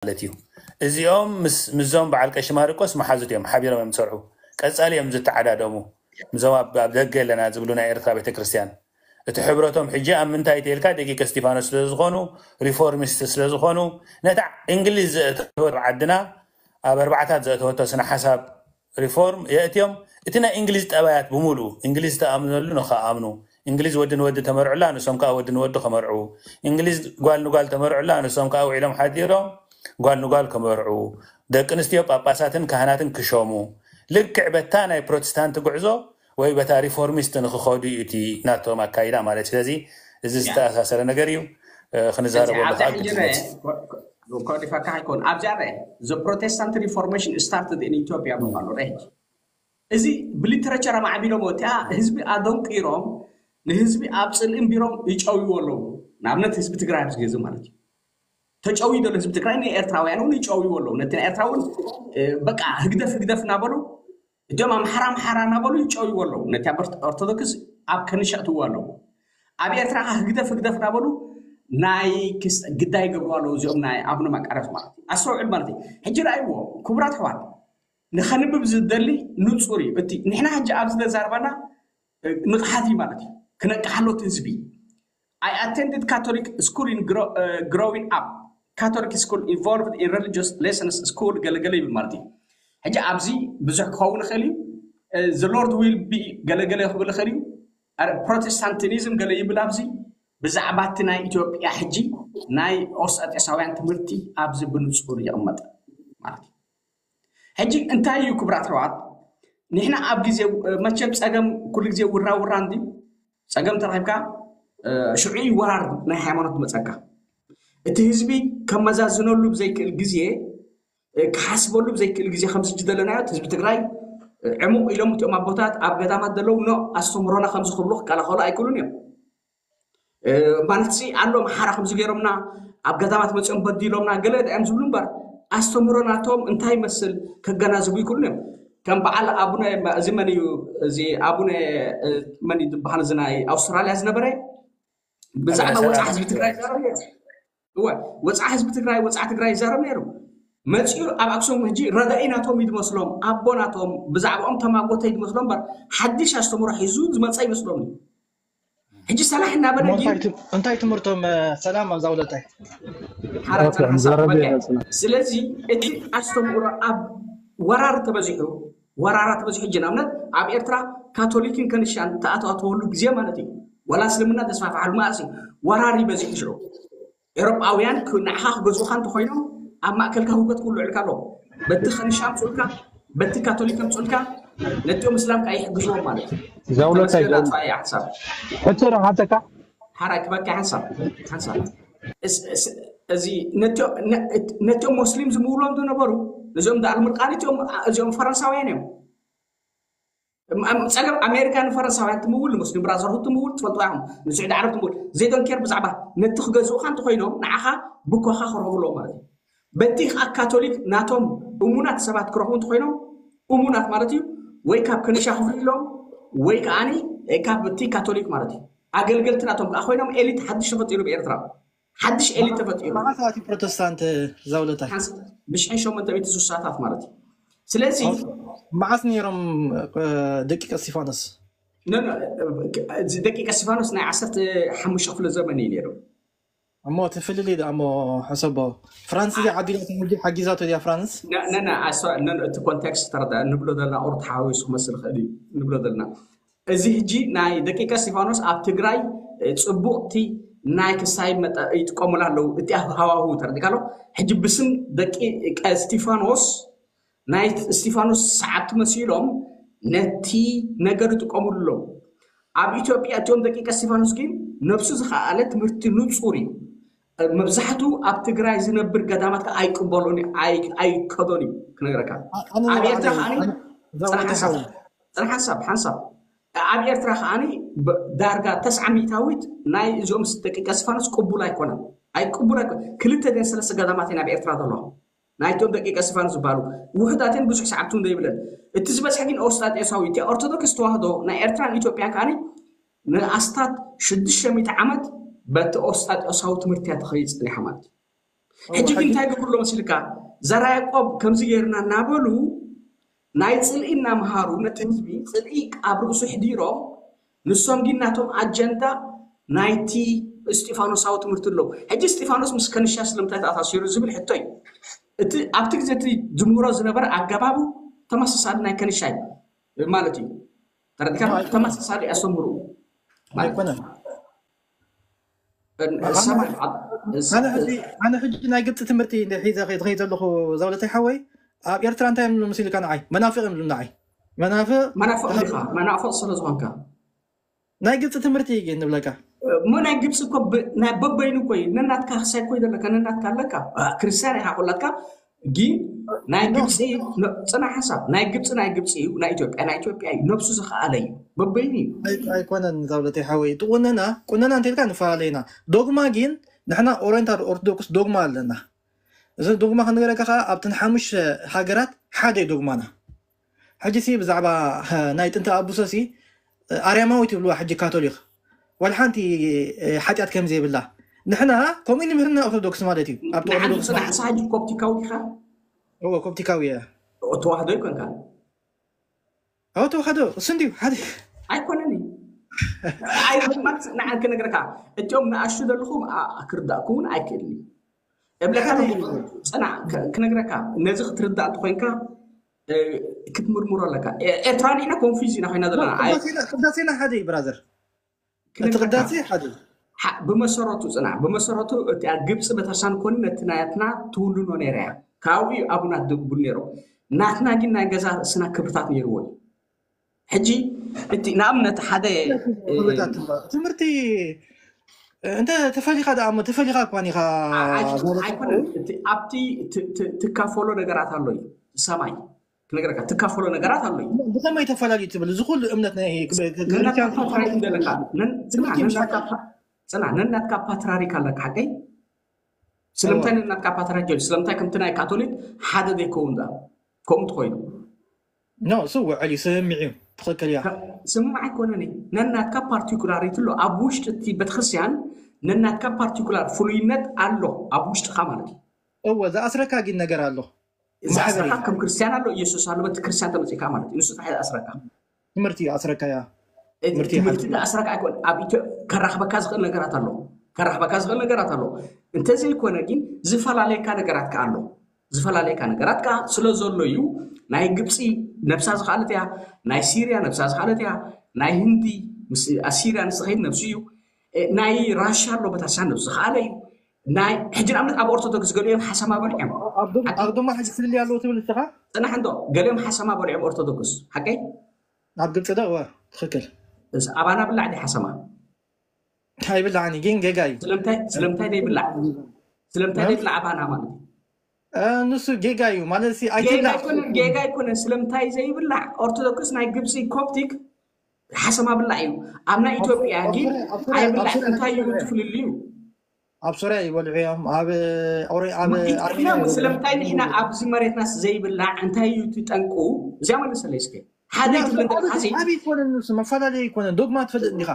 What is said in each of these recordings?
ማለት እዩ። እዚኦም ምስ- ምስዞም በዓል ቀሺ ማርቆስ መሓዙት እዮም፣ ሓቢሮም እዮም ዝሰርሑ። ቀጻሊ እዮም ዝተዓዳደሙ። ምስዞም ኣብ ኣብ ደገ ኣለና ዝብሉ ናይ ኤርትራ ቤተክርስትያን እቲ ሕብረቶም ሕጂ ኣብ ምንታይ ተልካ ደቂቀ እስጢፋኖስ ስለ ዝኾኑ፣ ሪፎርሚስት ስለ ዝኾኑ፣ ነታ እንግሊዝ ዘእተወት ዓድና ኣብ ኣርባዕታት ዘእተወቶ ስነ ሓሳብ ሪፎርም የእትዮም። እቲ ናይ እንግሊዝ ጠባያት ብምሉኡ እንግሊዝ ተኣምነሉ ንኸኣምኑ፣ እንግሊዝ ወዲ ንወዲ ተመርዑላ ንሶም ከዓ ወዲ ንወዲ ከመርዑ፣ እንግሊዝ ጓል ንጓል ተመርዑላ ንሶም ከዓ ውዒሎም ሓዲሮም ጓል ንጓል ከመርዑ፣ ደቂ ኣንስትዮ ጳጳሳትን ካህናትን ክሸሙ፣ ልክዕ በታ ናይ ፕሮቴስታንት ጉዕዞ ወይ በታ ሪፎርሚስት ንክኸዱ እዩ እቲ ናቶም ኣካይዳ ማለት። ስለዚ እዚ ዝተኣሳሰረ ነገር እዩ። ክንዛረበሉ ከዓ ግድነት። ኮዲፋካ ኣይኮን ኣብዚኣ ረ the protestant reformation started in ኢትዮጵያ ብምባሉ ረ እዚ ብሊተረቸር ኣማዕቢሎም ወፅያ ህዝቢ ኣደንቂሮም ንህዝቢ ኣብ ፅልኢ እምቢሮም ይጨውይዎ ኣለዉ። ንኣብነት ህዝቢ ትግራይ ኣብዚ ግዜ ማለት እዩ ተጨውዩ ዘሎ ህዝቢ ትግራይ ንኤርትራውያን እውን ይጨውይዎ ኣለዉ። ነቲ ናይ ኤርትራ እውን በቃ ህግደፍ ህግደፍ እናበሉ እቶም ኣምሓራ ኣምሓራ እናበሉ ይጨውይዎ ኣለዉ። ነቲ ኣብ ኦርቶዶክስ ኣብ ከንሻእትዎ ኣለዉ። ኣብ ኤርትራ ከዓ ህግደፍ ህግደፍ እናበሉ ናይ ግዳይ ይገብሩ ኣለዉ። እዚኦም ናይ ኣቡነ ማቃርዮስ ማለት እዩ። ኣስተውዕል ማለት እዩ። ሕጂ ረኣይዎ ክቡራት ኣሕዋት ንኸንብብ ዝደሊ ንፁር እዩ። እቲ ንሕና ሕጂ ኣብዚ ተዛርባና ንቕሓት እዩ ማለት እዩ። ክነቅሓሎ እቲ ህዝቢ I attended Catholic school in grow, uh, growing up. Catholic school involved in religious lessons school ገለገለ ይብል ማለት እዩ። ሕጂ ኣብዚ ብዙሕ ክኸውን ይኽእል እዩ። The Lord will be ገለገለ ክብል ይኽእል እዩ። ፕሮቴስታንቲኒዝም ገለ ይብል ኣብዚ ብዛዕባ እቲ ናይ ኢትዮጵያ ሕጂ ናይ ኦስጣጤሳውያን ትምህርቲ ኣብዚ ብንፁር ይቕመጥ ማለት እዩ። ሕጂ እንታይ እዩ ክብራት ኣሕዋት ንሕና ኣብ ግዜ መቸም ፀገም ኩሉ ግዜ ውራ ውራ እንዲ ፀገም ተረኪብካ ሽዑ እዩ ወራር ናይ ሃይማኖት መፀካ እቲ ህዝቢ ከመዛዝነሉ ብዘይክእል ግዜ ክሓስበሉ ብዘይክእል ግዜ ከምዚ ሕጂ ዘለናዮ ህዝቢ ትግራይ ዕሙቕ ኢሎም እቲኦም ኣቦታት ኣብ ገዳማት ዘለዉ ኖ ኣስተምህሮና ከምዚ ክብሉ ክከላኸሉ ኣይክእሉን እዮም ማለት ሲ ኣሎ መሓራ ከምዚ ገይሮምና ኣብ ገዳማት መፅኦም በዲሎምና ገለ እዮም ዝብሉ እምበር ኣስተምህሮ ናቶም እንታይ ይመስል ከገናዝቡ ይክእሉን እዮም ከም በዓል ኣቡነ እዚ መን እዩ እዚ ኣቡነ መን ዝበሃል እዚ ናይ ኣውስትራሊያ ዝነበረ ብዛዕባ ወፃ ህዝቢ ትግራይ እወ ወፃ ህዝቢ ትግራይ ወፃ ትግራይ ይዛረብ ነይሩ መፅኡ ኣብ ኣክሱም ሕጂ ረዳኢ ናቶም ይድመስሎም ኣቦ ናቶም ብዛዕባኦም ተማጎተ ይድመስሎም እምበር ሓድሽ ኣስተምህሮ ሒዙ ዝመፀ ይመስሎም ሕጂ ሰላሕ እናበለ እንታይ ትምህርቶም ሰላም ኣብዛ ውለታይ ስለዚ እቲ ኣስተምህሮ ኣብ ወራር ተበዚሑ ወራራ ተበዚሑ ሕጂ ንኣብነት ኣብ ኤርትራ ካቶሊክን ከንሻን ተኣተዋተወሉ ግዜ ማለት እዩ ወላ እስልምና ተስፋፍሓሉ ማለት እዩ ወራር ይበዚሑ ሽዑ ኤሮጳውያን ንዓኻ ክገዝኡኻ እንተኮይኖም ኣብ ማእከልካ ህውከት ክውልዑልካ ኣለዎ በቲ ከንሻ ኣምፅኡልካ በቲ ካቶሊክ ኣምፅኡልካ ነቲኦም እስላም ከዓ ይሕግዝዎም ማለት እዩ ዘውለታይ ሓሳብ ሕቶ ዶ ሓተካ ሓራይ ክበካ ሓንሳብ ሓንሳብ እዚ ነቲኦም ሞስሊም ዝምውሎም ዝነበሩ እዚኦም ዳኣል ምርቃን እዚኦም ፈረንሳውያን እዮም ፀገም ኣሜሪካ ንፈረንሳውያን ትምውል ንሙስሊም ብራዘርሁድ ትምውል ትፈልጡ ኢኹም ንስዑዲ ዓረብ ትምውል ዘይዶንኬር ብዛዕባ ነቲ ክገዝኡካ እንተኮይኖም ንዓኻ ብኮኻ ክረኽብሎም ማለት እዩ በቲ ከዓ ካቶሊክ ናቶም እሙናት ሰባት ክረኽቡ እንተኮይኖም እሙናት ማለት እዩ ወይ ካብ ከነሻ ክፍልሎም ወይ ከዓ ካብ እቲ ካቶሊክ ማለት እዩ ኣገልገልቲ ናቶም ከዓ ኮይኖም ኤሊት ሓድሽ ተፈጢሩ ብኤርትራ ሓድሽ ኤሊት ተፈጢሩ መዓስ ኣትዩ ፕሮቴስታንት ዛውለታይ ብሽሕን ሸሞንተ ሚእቲ ስሳታት ማለት እዩ ስለዚ መዓስ ነይሮም ደቂቀ እስቲፋኖስ ደቂቀ እስቲፋኖስ ናይ ዓሰርተ ሓሙሽተ ክፍለ ዘመን እዩ ነይሩ እሞ እቲ ፍልልይ ደኣ እሞ ሕሰቦ ፍራንስ እዚኣ ዓዲላቶም ሕጂ ሓጊዛቶ እያ ፍራንስ ነነ እቲ ኮንቴክስት ተረዳ ንብሎ ዘለና ኦር ተሓዋዊሱ ክመስል ይኽእል እዩ ንብሎ ዘለና እዚ ሕጂ ናይ ደቂቀ እስቲፋኖስ ኣብ ትግራይ ፅቡቕቲ ናይ ክሳይ ይጥቀሙላ ኣለዉ እቲ ሃዋሁ ተረዲካ ኣሎ ሕጂ ብስም ደቂቀ እስቲፋኖስ ናይ እስቲፋኖስ ሰዓብቲ መሲሎም ነቲ ነገር ይጥቀሙሉ ኣለዉ ኣብ ኢትዮጵያ እቲኦም ደቂቀ እስቲፋኖስ ግን ነብሱ ዝኸኣለ ትምህርቲ ንፁር እዩ መብዛሕቱ ኣብ ትግራይ ዝነብር ገዳማት ከዓ ኣይቅበሉን ኣይከዶን እዩ ክነግረካ ኣብ ኤርትራ ከዓ ፅራሕ ሓሳብ ሓንሳብ ኣብ ኤርትራ ከዓ ዳርጋ ተስዓ ሚእታዊት ናይ እዚኦም ደቂቀ እስቲፋኖስ ቅቡል ኣይኮነን ኣይቅቡል ኣይኮነ ክልተ ደን ሰለስተ ገዳማት ኣብ ኤርትራ ዘለኹ ናይቶም ደቂቀ እስቲፋኖስ ዝበሃሉ ውሕዳትን ብዙሕ ሰዓብቲ እንዶ ይብለን እቲ ዝበዝሐ ግን ኦስጣጤሳዊ እቲ ኦርቶዶክስ ተዋህዶ ናይ ኤርትራን ኢትዮጵያን ከዓ ንኣስታት ሽዱሽተ ሚእቲ ዓመት በቲ ኦስጣጤሳዊ ትምህርቲ እያ ትኸይድ ፀኒሓ ማለት እዩ ሕጂ ግን እንታይ ገብርሎ መሲልካ? ዘራ ያዕቆብ ከምዚ ገይርና እናበሉ ናይ ጽልኢ እናምሃሩ ነቲ ህዝቢ ጽልኢ ኣብ ርእሱ ሕዲሮም፣ ንሶም ግን ናቶም ኣጀንዳ ናይቲ እስጢፋኖሳዊ ትምህርቲ ኣለዉ። ሕጂ እስጢፋኖስ ምስ ከንሻ ስለምንታይ ተኣሳሲሩ ዝብል ሕቶ እዩ። እቲ ኣብቲ ግዜ እቲ ዝምህሮ ዝነበረ ኣገባቡ ተመሳሳሊ ናይ ከንሻ እዩ ማለት እዩ። ተረዲካ? ተመሳሳሊ ኣስተምህሩ ማለት ኣይኮነን። ሰማይ ኣነ ሕጂ ኣነ ሕጂ ናይ ግብፂ ትምህርቲ ሒዘ ዝኸይድ ዘለኹ ዘውለተይ ሓወይ ኣብ ኤርትራ እንታይ እዮም ዝብሉ መሲልካ ንዓይ መናፍቅ እዮም ዝብሉ ንዓይ መናፍቅ መናፍቕ ኢኻ፣ መናፍቕ ስለ ዝኾንካ። ናይ ግብፂ ትምህርቲ እዩ ግን ንብለካ እሞ ናይ ግብፂ እኮ ብ- ናይ በበይኑ እኮ እዩ። ነናትካ ክሳይ እኮ ዘለካ፣ ነናትካ ኣለካ። አ፣ ክርስቲያን ኢኻ ኩላትካ። ግን ናይ ግብፂ ነ- ፅናሕ ሓሳብ ናይ ግብፂ ናይ ግብፂ እዩ፣ ናይ ኢትዮጵያ ናይ ኢትዮጵያ እዩ። ነብሱ ዝኸኣለ እዩ፣ በበይኑ እዩ። ኣይ- ኣይኮነን ዛውለተይ ሓወይ እቲ ቁነና ቁነና እንተልካ ንፈላለ ኢና ዶግማ ግን ንሕና ኦሪንታል ኦርቶዶክስ ዶግማ ኣለና እዚ ዶግማ ክንገረካ ከዓ ኣብተን ሓሙሽተ ሃገራት ሓደ እዩ ዶግማና ሕጂ ሲ ብዛዕባ ሀ- ናይ ጥንቲ ኣቡሰ ሲ ኣርያማዊ ትብልዋ ሕጂ ካቶሊክ ዋላ ሓንቲ እ፣ ሓጢኣት ከም ዘይብላ ንሕና ከምኡ ንምህርና ኦርቶዶክስ ማለት እዩ ኣብቲ ንዓንዱ ኦርቶዶክስ ፅናሕ ንስኻ ሕጂ ኮፕቲካዊ ዲኻ? እዎ ኮፕቲካዊ እየ ተዋህዶ ይኮንካ። ኣዎ ተዋህዶ እሱ እንድዩ ሓደ ኣይኮነን እዩ። ኣይ ማለት ንዓን ክነግረካ እቲኦም ንኣሹ ዘለኹም ኣ- ክርዳእኩም እውን ኣይክእልን እዩ። እብለካ ሓደ ኣለኹ፣ ፅናዕ ክ- ክነግረካ ነዚ ክትርዳእ እንተኮይንካ እ፣ ክትምርምሮ ኣለካ። ኤ- ኤርትራውያን ኢና ኮንፊዝ ኢና ኮይና ዘለና። ኣይ- ቅዳሴና- ቅዳሴና ሓደ እዩ ብራዘር እቲ ክነግረካ ቅዳሴ ሓደ እዩ ሓ- ብመሰረቱ ፅናዕ ብመሰረቱ እቲኣ ግብፂ ቤተክርስትያን ኮኒ ነቲ ናትና ትውንኖ ነይራ እያ። ካብኡ እዩ ኣቡናት ድብል ነይሮም። ናትና ግን ናይ ገዛ ርእስና ክብርታት ነይርዎ እዩ። ሕጂ እቲ ንኣብነት ሓደ እ፣ ክብርታት ትምህርቲ እንተ ተፈሊኻ ደኣ እሞ ተፈሊኻ እኳን ኢኻ ኣይ- ማለት ኣይኮነን እቲ ኣብቲ ት- ት- ትካፈሎ ነገራት ኣሎ እዩ። ሰማይ ክነግረካ ትካፈሎ ነገራት ኣሎ እዩ። ብኸመይ ተፈላለዩ ትብል እዚ ኩሉ እምነት ናይ ነናትካ ፓትራሪክ እንደለካ ነን- ጽና ነናትካ ፓ- ጽና ነናትካ ፓትራሪክ ኣለካ ሓቀይ ስለምንታይ ነናትካ ፓትራሪክ ጀ ስለምንታይ ከምቲ ናይ ካቶሊክ ሓደ ዘይከውን ዳ ከምኡ ትኮይኑ ኖ እሱ ውዕል እዩ ስምምዕ እዩ ትኽክል እያ ስምምዕ ኣይኮነን እዩ ነናትካ ፓርቲኩላሪቲ ኣሎ ኣብ ውሽጢ እቲ ቤተክርስትያን ነናትካ ፓርቲኩላር ፍሉይነት ኣሎ ኣብ ውሽጥካ ማለት እዩ እወ ዝኣስረካ ግን ነገር ኣሎ ዝኣስረካ ከም ክርስትያን ኣሎ ኢየሱስ ኣሎ በቲ ክርስትያን ተመፂእካ ማለት እዩ ንሱ ጥራሕ ዝኣስረካ ትምህርቲ ኣስረካያ ትምህርቲ ዝኣስረካ ኣይኮን ኣብ ከራኽበካ ዝኽእል ነገራት ኣሎ ከራኽበካ ዝኽእል ነገራት ኣሎ እንተዘይኮነ ግን ዝፈላለየካ ነገራት ከ ኣሎ ዝፈላለየካ ነገራት ከ ስለ ዘሎ እዩ ናይ ግብፂ ነብሳ ዝኸኣለት እያ ናይ ሲርያ ነብሳ ዝኸኣለት እያ ናይ ህንዲ ምስ ኣሲርያ ንስኸይድ ነብሱ እዩ ናይ ራሻ ኣሎ በታሳ ነብሱ ዝኸኣለ እዩ ናይ ሕጂ ንኣብነት ኣብ ኦርቶዶክስ ገሊኦም ሓሰማ በልዖም ኣብ ድማ ሕጂ ፍልልይ ኣለዎ ትብል ንስኻ ፅናሕ እንዶ ገሊኦም ሓሰማ በልዖም ኦርቶዶክስ ሓቀይ ኣብ ግብፂ ዶ እወ ትኽክል ኣባና ብላዕ ዲ ሓሰማ ኣይብላዕን ግን ጌጋ እዩ ስለምንታይ ዘይብላዕ ስለምንታይ ዘይብላዕ ኣባና ማለት ንሱ ጌጋ እዩ ማለት ጌጋ ኣይኮነን ስለምንታይ ዘይብላዕ ኦርቶዶክስ ናይ ግብፂ ኮፕቲክ ሓሰማ ብላዕ እዩ ኣብ ናይ ኢትዮጵያ ግን ኣይብላዕ እንታይ እዩ ትፍልልዩ ኣብ ሶርያ ይበልዑ እዮም ኣብ ስለምንታይ ንሕና ኣብዚ መሬትናስ ዘይብላዕ እንታይ እዩ ትጠንቁ እዚኣ መልሰለይ እስከ ሓደ ትብል ዘለካ ዓብ ይኮነን ንሱ መፈላለየ ይኮነን ዶግማ ትፈልጥ እንዲኻ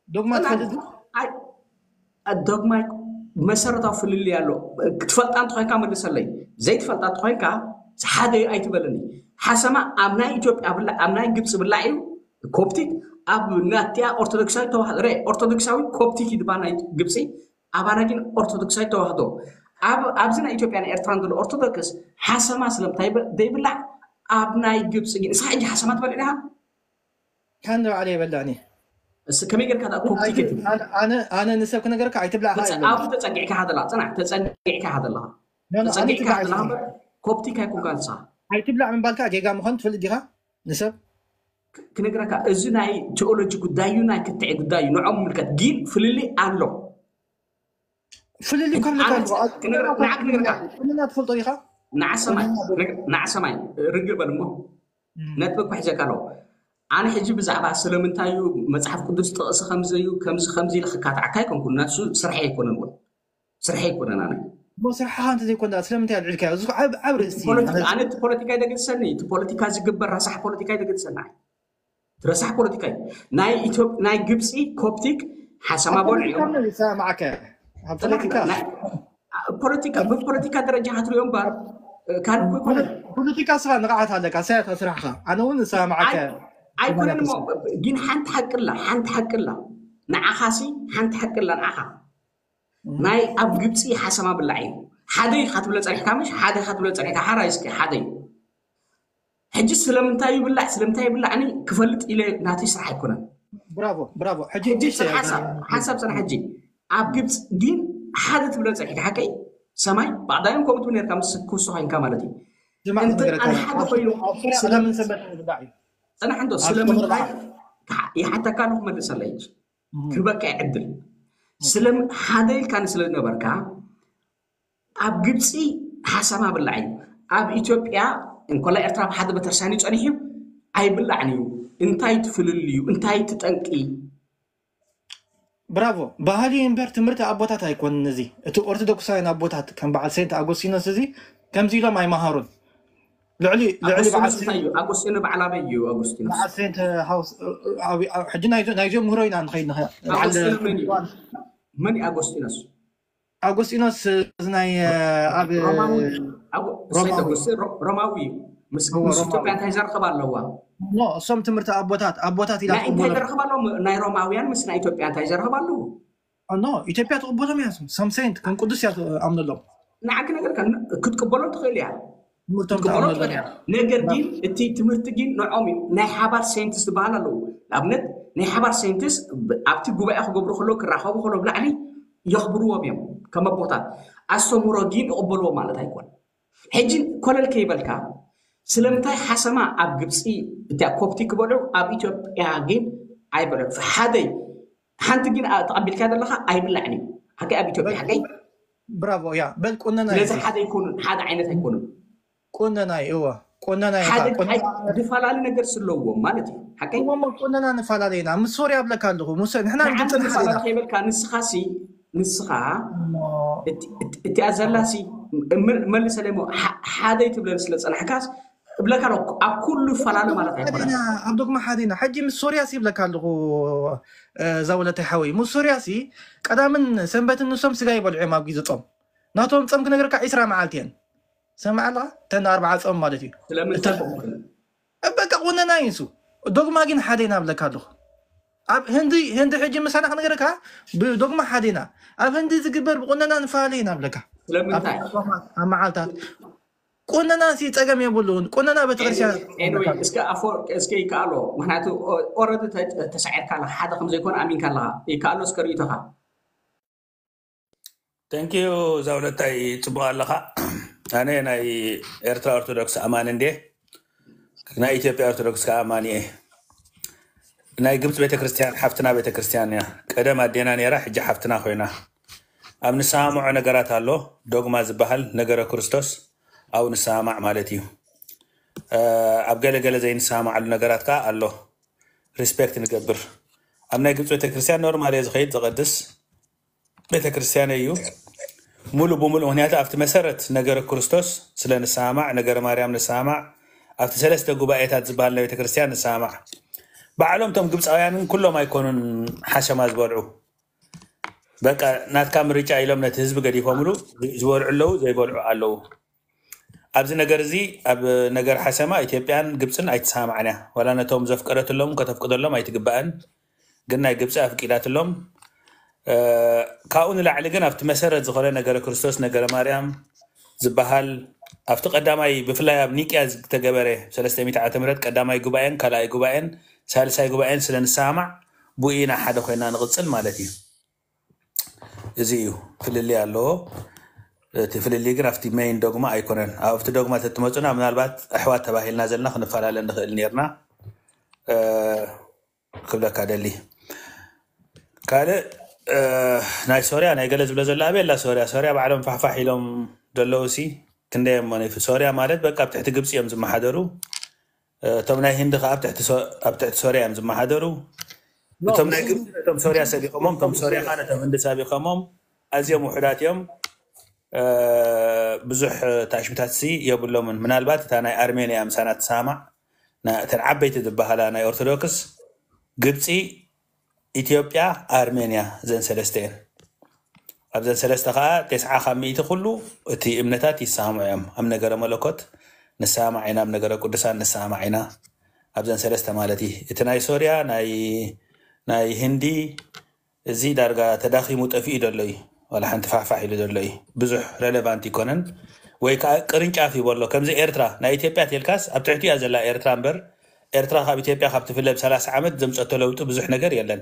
ዶግማ ትፈልጥ ዶግማ መሰረታዊ ፍልልይ ኣሎ ክትፈልጣ እንተኮይንካ መልሰለይ ዘይትፈልጣ እንተኮይንካ ሓደ ኣይትበለኒ ሓሰማ ኣብ ናይ ኢትዮጵያ ብላ ኣብ ናይ ግብፂ ብላ እዩ ኮፕቲክ ኣብ ናቲያ ኦርቶዶክሳዊ ተዋህዶ ኦርቶዶክሳዊ ኮፕቲክ ይድባ ናይ ግብፂ ኣባና ግን ኦርቶዶክሳዊ ተዋህዶ ኣብ ኣብዚ ናይ ኢትዮጵያ ናይ ኤርትራን ዘሎ ኦርቶዶክስ ሓሰማ ስለምታይ ዘይብላዕ ኣብ ናይ ግብፂ ግን እስኻ ሕጂ ሓሰማ ትበልዕ ዲኻ ካን ባዕለ የበላኒ እስ ከመይ ጌርካ ዳ ኮፕቲክ ትብል ኣነ ንሰብ ክነገርካ ኣይትብላዕ ኣብ ተጸጊዕካ ሃደላ ጽናዕ ተጸጊዕካ ሃደላ ተጸጊዕካ ሃደላ ኮፕቲክ ኣይኮንካ ንስኻ ኣይትብላዕ ምባልካ ጌጋ ምዃን ትፈልጥ ዲኻ ንሰብ ክነግረካ እዚ ናይ ቴኦሎጂ ጉዳይ እዩ ናይ ክትዕ ጉዳይ እዩ ንዖም ምልከት ግን ፍልልይ ኣሎ ፍልልይ ካብ ንዓክነግረካ ትፈልጦ ዲኻ ንዓሰማይ ንዓሰማይ ርግእ በል እሞ ነጥቢ እኮ ሒዘካ ኣለዎ ኣነ ሕጂ ብዛዕባ ስለምንታይ እዩ መፅሓፍ ቅዱስ ጥቕሲ ከምዘዩ ከምዚ ከምዚ ኢለ ክካትዓካ ኣይኮንኩን ናሱ ስርሐ ኣይኮነን እውን ስርሐ ኣይኮነን ኣነ ስርሓኻ እንተዘይኮን ስለምንታይ ኣልዕልካዮ እዚ ዓብ ርእሲ ኣነ እቲ ፖለቲካ ይደገድሰኒ እቲ ፖለቲካ ዝግበር ረሳሕ ፖለቲካ ይደገድሰኒ ረሳሕ ፖለቲካ እዩ ናይ ግብፂ ኮፕቲክ ሓሰማ በልዑ ሰማዕከ ኣብ ፖለቲካ ፖለቲካ ብፖለቲካ ደረጃ ክትሪኦ እምበር ካልእ እኮ ኣይኮነን። ፖለቲካ ስራ ንቕዓት ኣለካ፣ ሳያት ስራሕካ። ኣነ እውን እሰማማዓካ እየ። ኣይኮነን እሞ ግን ሓንቲ ሓቂ ኣላ፣ ሓንቲ ሓቂ ኣላ። ንዓኻሲ ሓንቲ ሓቂ ኣላ ንዓኻ። ናይ ኣብ ግብፂ ሓሰማ ብላዕ እዩ። ሓደ ኢኻ ትብሎ ፀኒሕካ፣ ምሽ ሓደ ኢኻ ትብሎ ፀኒሕካ፣ ሓራይ እስኪ ሓደ እዩ። ሕጂ ስለምንታይ ይብላዕ ስለምንታይ ይብላዕ እኔ ክፈልጥ ኢለ ናተይ ስራሕ ኣይኮነን። ብራቮ ብራቮ። ሕጂ ሕጂ ንእሽተይ ሓሳብ ሓሳብ ፅና። ሕጂ ኣብ ግብፂ ግን ሓደ ትብሎ ፀኒሕካ፣ ሓቀይ ሰማይ ባዕዳዮም ከምኡ ትብል ነርካ፣ ምስ ክውስኻ ኢንካ ማለት እዩ። ጅማዕ እንተ ነገረካ ኣነ ሓደ ኮይኑ ኣብ ፍረ ስለ- ቀዳምን ሰንበት ንብላዕ እዩ። ፅናሕ እንዶ ኣብ ስለምንታይ ክብርኻ ክሓ- ይሓተካ ኣለኹ፣ መልሰለይ ሕጂ ክህበካ እየ ዕድል። ስለ ሓደ ኢልካኒ ስለ ዝነበርካ ኣብ ግብፂ ሓሰማ ብላዕ እዩ። ኣብ ኢትዮጵያ እንኮላ ኤርትራ ብሓደ ቤተክርስትያን እዩ ፀኒሑ ኣይብላዕን እዩ። እንታይ ትፍልል እዩ? እንታይ ትጠንቂ? ብራቮ። ባህሊ እምበር ትምህርቲ ኣቦታት ኣይኮንን። እዚ እቲ ኦርቶዶክሳውያን ኣቦታት ከም በዓል ሴንት ኣጎስቲኖስ እዚ ከምዚ ኢሎም ኣይመሃሩን። ልዕሊ ልዕሊ በዓል ኣጎስቲኖስ እንታይ እዩ? ኣጎስቲኖ በዓል ኣበይ እዩ? ኣጎስቲኖስ በዓል ሴንት ሃውስ ኣብ- ኣብ- ሕጂ ናይዞ- ናይዞም ምህሮ ኢና ንኸይድ ንኸ- በዓል ኣጎስቲኖ መን እዩ? መን እዩ ኣጎስቲኖስ? ኣጎስጢኖስ እዚ ናይ ኣብ ሮማዊ ኣጎ- ሮማዊ። ሳይንቲስት ሮ- ሮማዊ እዩ። ምስ እዎ፣ ምስ ሮማዊ። ኢትዮጵያ እንታይ ዘርኽብ ኣለዋ? ኖ እሶም ትምህርቲ ኣቦታት ኣቦታት ኢላ ናይ እንታይ ትቕበሎም። ዘርኽብ ኣለዎ? ናይ ሮማውያን ምስ ናይ ኢትዮጵያ እንታይ ዘርኽብ ኣለዎ? ኖ ኢትዮጵያ ትቕበሎም እያ። እሶም ሰም ሴንት ከም ቅዱስ እያ ትኣምነሎም። ንዓኪ ነገርካ ክትቅበሎም ትኽእል እያ። ትምህርቶም ክትቅበሎ ትኣምነሎም ትኽእል እያ። እያ። ነገር ግን እቲ ትምህርቲ ግን ንዖም እዩ። ናይ ሓባር ሳይንቲስት ዝበሃል ኣለዉ። ንኣብነት ናይ ሓባር ሳይንቲስት ብ- ኣብቲ ጉባኤ ክገብሩ ከለዉ ክራኸቡ ከለዉ ብላዕሊ የኽብርዎም እዮም። ከም ኣቦታት ኣስተምህሮ ግን ይቕበልዎ ማለት ኣይኮን። ሕጂ ኮለል ከይበልካ ስለምንታይ ሓሰማ ኣብ ግብፂ እቲያ ኮብቲ ክበልዑ ኣብ ኢትዮጵያ ግን ኣይበልዑ? ሓደይ ሓንቲ ግን ኣ- ተቐቢልካ ዘለኻ ኣይብላዕን እዩ። ሓቂ ኣብ ኢትዮጵያ ሓቀይ ብራቮ እያ በል ቁነና ስለዚ እዩ። ሓደ ኣይኮኑን፣ ሓደ ዓይነት ኣይኮኑን። ቁነና እዩ እዋ ቁነና እዩ ሓደ ቁነና ድፈላለ ነገር ስለዎም ማለት እዩ። ሓቀይ እሞ ቁነና ንፈላለ ኢና። ምስ ሶርያ ኣብለካ ኣለኹ ምስ ንሕና ንዓንተ ግብፅን ድፈላለ ሓሊና ከይበልካ ንስኻሲ ንስኻ እሞ እቲ- እቲ- እቲኣ ዘላሲ ም- መልሰለይ እሞ ሓ- ሓደይ ትብለኒ ስለ ፀናሕካስ እብለካ ኣለኹ። ኣብ ኩሉ ፈላለ ማለት ኣይኮነን። ሓዲና ኣብ ዶግማ ሓዲና ሕጂ ምስ ሶርያ ሲ ይብለካ ኣለኹ። እ፣ እዛ ወለታይ ሓወይ ምስ ሶርያ ሲ ቀዳምን ሰንበትን ንሶም ስጋ ይበልዑ እዮም ኣብ ግዜ ጾም። ናቶም ጾም ክነግረካ ዒስራ መዓልቲ እየን። ሰማዕ ኣለኻ? ተን ኣርባዓ ጾም ማለት እዩ። ስለምንታይ ከምኡ? በቃ ቁነና እዩ እሱ። ዶግማ ግን ሓደ ኢና ብለካ ኣለኹ። ኣብ ህንዲ ህንዲ ሕጂ ምሳና ክነግረካ ብዶግማ ሓደ ኢና። ኣብ ህንዲ ዝግበር ብቁነና ንፈላለ ኢና ብለካ። ኣብ ስለምንታይ? ጾማት፣ ኣብ መዓልታት ቁነና ሲ ጸገም የብሉን። ቁነና ቤተክርስትያን ኤኒወይ እስከ ኣፈወርቂ እስከ ይከኣሎ፣ ምክንያቱ ኦረዲ ተሳዒርካ ኣለካ፣ ሓደ ከም ዘይኮነ ኣሚንካ ኣለካ። ይከኣሎ እስከ ርእይቶኻ። ተንኪዩ ዛውለታይ ጽቡቅ ኣለኻ። ኣነ ናይ ኤርትራ ኦርቶዶክስ ኣማኒ እንዴ ናይ ኢትዮጵያ ኦርቶዶክስ ከዓ ኣማኒ እየ። ናይ ግብፅ ቤተክርስትያን ሓፍትና ቤተክርስትያን እያ። ቀደም ኣዴና ነይራ፣ ሕጂ ሓፍትና ኮይና። ኣብ ንሰማምዖ ነገራት ኣሎ። ዶግማ ዝበሃል ነገረ ክርስቶስ ኣብኡ ንሰማማዕ ማለት እዩ። እ፣ ኣብ ገለ ገለ ዘይንሰማማዓሉ ነገራት ከዓ ኣሎ። ሪስፔክት ንገብር። ኣብ ናይ ግብፅ ቤተክርስትያን ኖርማል እየ ዝኸይድ ዝቐድስ ቤተክርስትያን እዩ። ሙሉ ብሙሉ ምክንያቱ ኣብቲ መሰረት ነገረ ክርስቶስ ስለ ንሰማማዕ፣ ነገረ ማርያም ንሰማማዕ፣ ኣብቲ ሰለስተ ጉባኤታት ዝበሃል ናይ ቤተክርስትያን ንሰማማዕ። ባዕሎም እቶም ግብፃውያንን ኩሎም ኣይኮኑን ሓሸማ ዝበልዑ። በቃ ናትካ ምርጫ ኢሎም ነቲ ህዝቢ ገዲፎምሉ ዝበልዑ ኣለዉ፣ ዘይበልዑ ኣለዉ። ኣብዚ ነገር እዚ ኣብ ነገር ሓሰማ ኢትዮጵያን ግብፅን ኣይትሰማማዕን እያ። ዋላ ነቶም ዘፍቀደትሎም ከተፍቅደሎም ኣይትግባእን፣ ግን ናይ ግብፂ ኣፍቂዳትሎም። እ፣ ካብኡ ንላዕሊ ግን ኣብቲ መሰረት ዝኾነ ነገረ ክርስቶስ ነገረ ማርያም ዝበሃል ኣብቲ ቀዳማይ ብፍላይ ኣብ ኒቅያ ዝተገበረ ሰለስተ ሚእቲ ዓመተ ምህረት ቀዳማይ ጉባኤን ካልኣይ ጉባኤን ሳልሳይ ጉባኤን ስለ ንሰማማዕ ብኡ ኢና ሓደ ኮይና ንቕፅል ማለት እዩ። እዚ እዩ ፍልልይ ኣለዎ። እቲ ፍልልይ ግን ኣብቲ ሜይን ዶግማ ኣይኮነን። ኣብቲ ዶግማ ተትመፁና ምናልባት ኣሕዋት ተባሂልና ዘለና ክንፈላለ ንኽእል ነርና። እ፣ ክብለካ ደሊ ካልእ እ፣ ናይ ሶርያ ናይ ገለ ዝብለ ዘሎ ኣበየላ ሶርያ ሶርያ ባዕሎም ፋሕፋሕ ኢሎም ዘለዉ ሲ ክንደይ እሞ ሶርያ ማለት በቃ ኣብ ትሕቲ ግብፂ እዮም ዝመሓደሩ። እቶም ናይ ህንዲ ከዓ ኣብ ትሕቲ ሶ- ኣብ ትሕቲ ሶርያ እዮም ዝመሓደሩ። እቶም ናይ ግብፂ ነቶም ሶርያ ሰቢኾሞም፣ እቶም ሶርያ ከዓ ነቶም ህንዲ ሰቢኾሞም። ኣዝዮም ውሑዳት እዮም። እ፣ ብዙሕ ታሽምታት ሲ የብሎምን። ምናልባት እታ ናይ ኣርሜንያ ምሳና ትሰማዕ፣ ና- እተን ዓበይቲ ዝበሃላ ናይ ኦርቶዶክስ ግብፂ፣ ኢትዮጵያ፣ ኣርሜንያ፣ ዘን ሰለስተ እየን። ኣብዘን ሰለስተ ከዓ ተስዓ ካብ ሚእቲ ኩሉ እቲ እምነታት ይሰማምዑ እዮም። ኣብ ነገረ መለኮት ንሰማማዕ ኢና፣ ኣብ ነገረ ቅዱሳን ንሰማማዕ ኢና። ኣብዘን ሰለስተ ማለት እዩ። እቲ ናይ ሶርያ፣ ናይ ናይ ህንዲ፣ እዚ ዳርጋ ተዳኺሙ ጠፊኡ ዘሎ እዩ። ዋላ ሓንቲ ፋሕፋሕ ኢሉ ዘሎ እዩ። ብዙሕ ረሌቫንት ይኮነን፣ ወይ ከዓ ቅርንጫፍ ይበሎ። ከምዚ ኤርትራ፣ ናይ ኢትዮጵያ ቴልካስ ኣብ ትሕቲ እያ ዘላ ኤርትራ እምበር፣ ኤርትራ ካብ ኢትዮጵያ ካብ ትፍለ ብ ሰላሳ ዓመት ዘምፀቶ ለውጢ ብዙሕ ነገር የለን።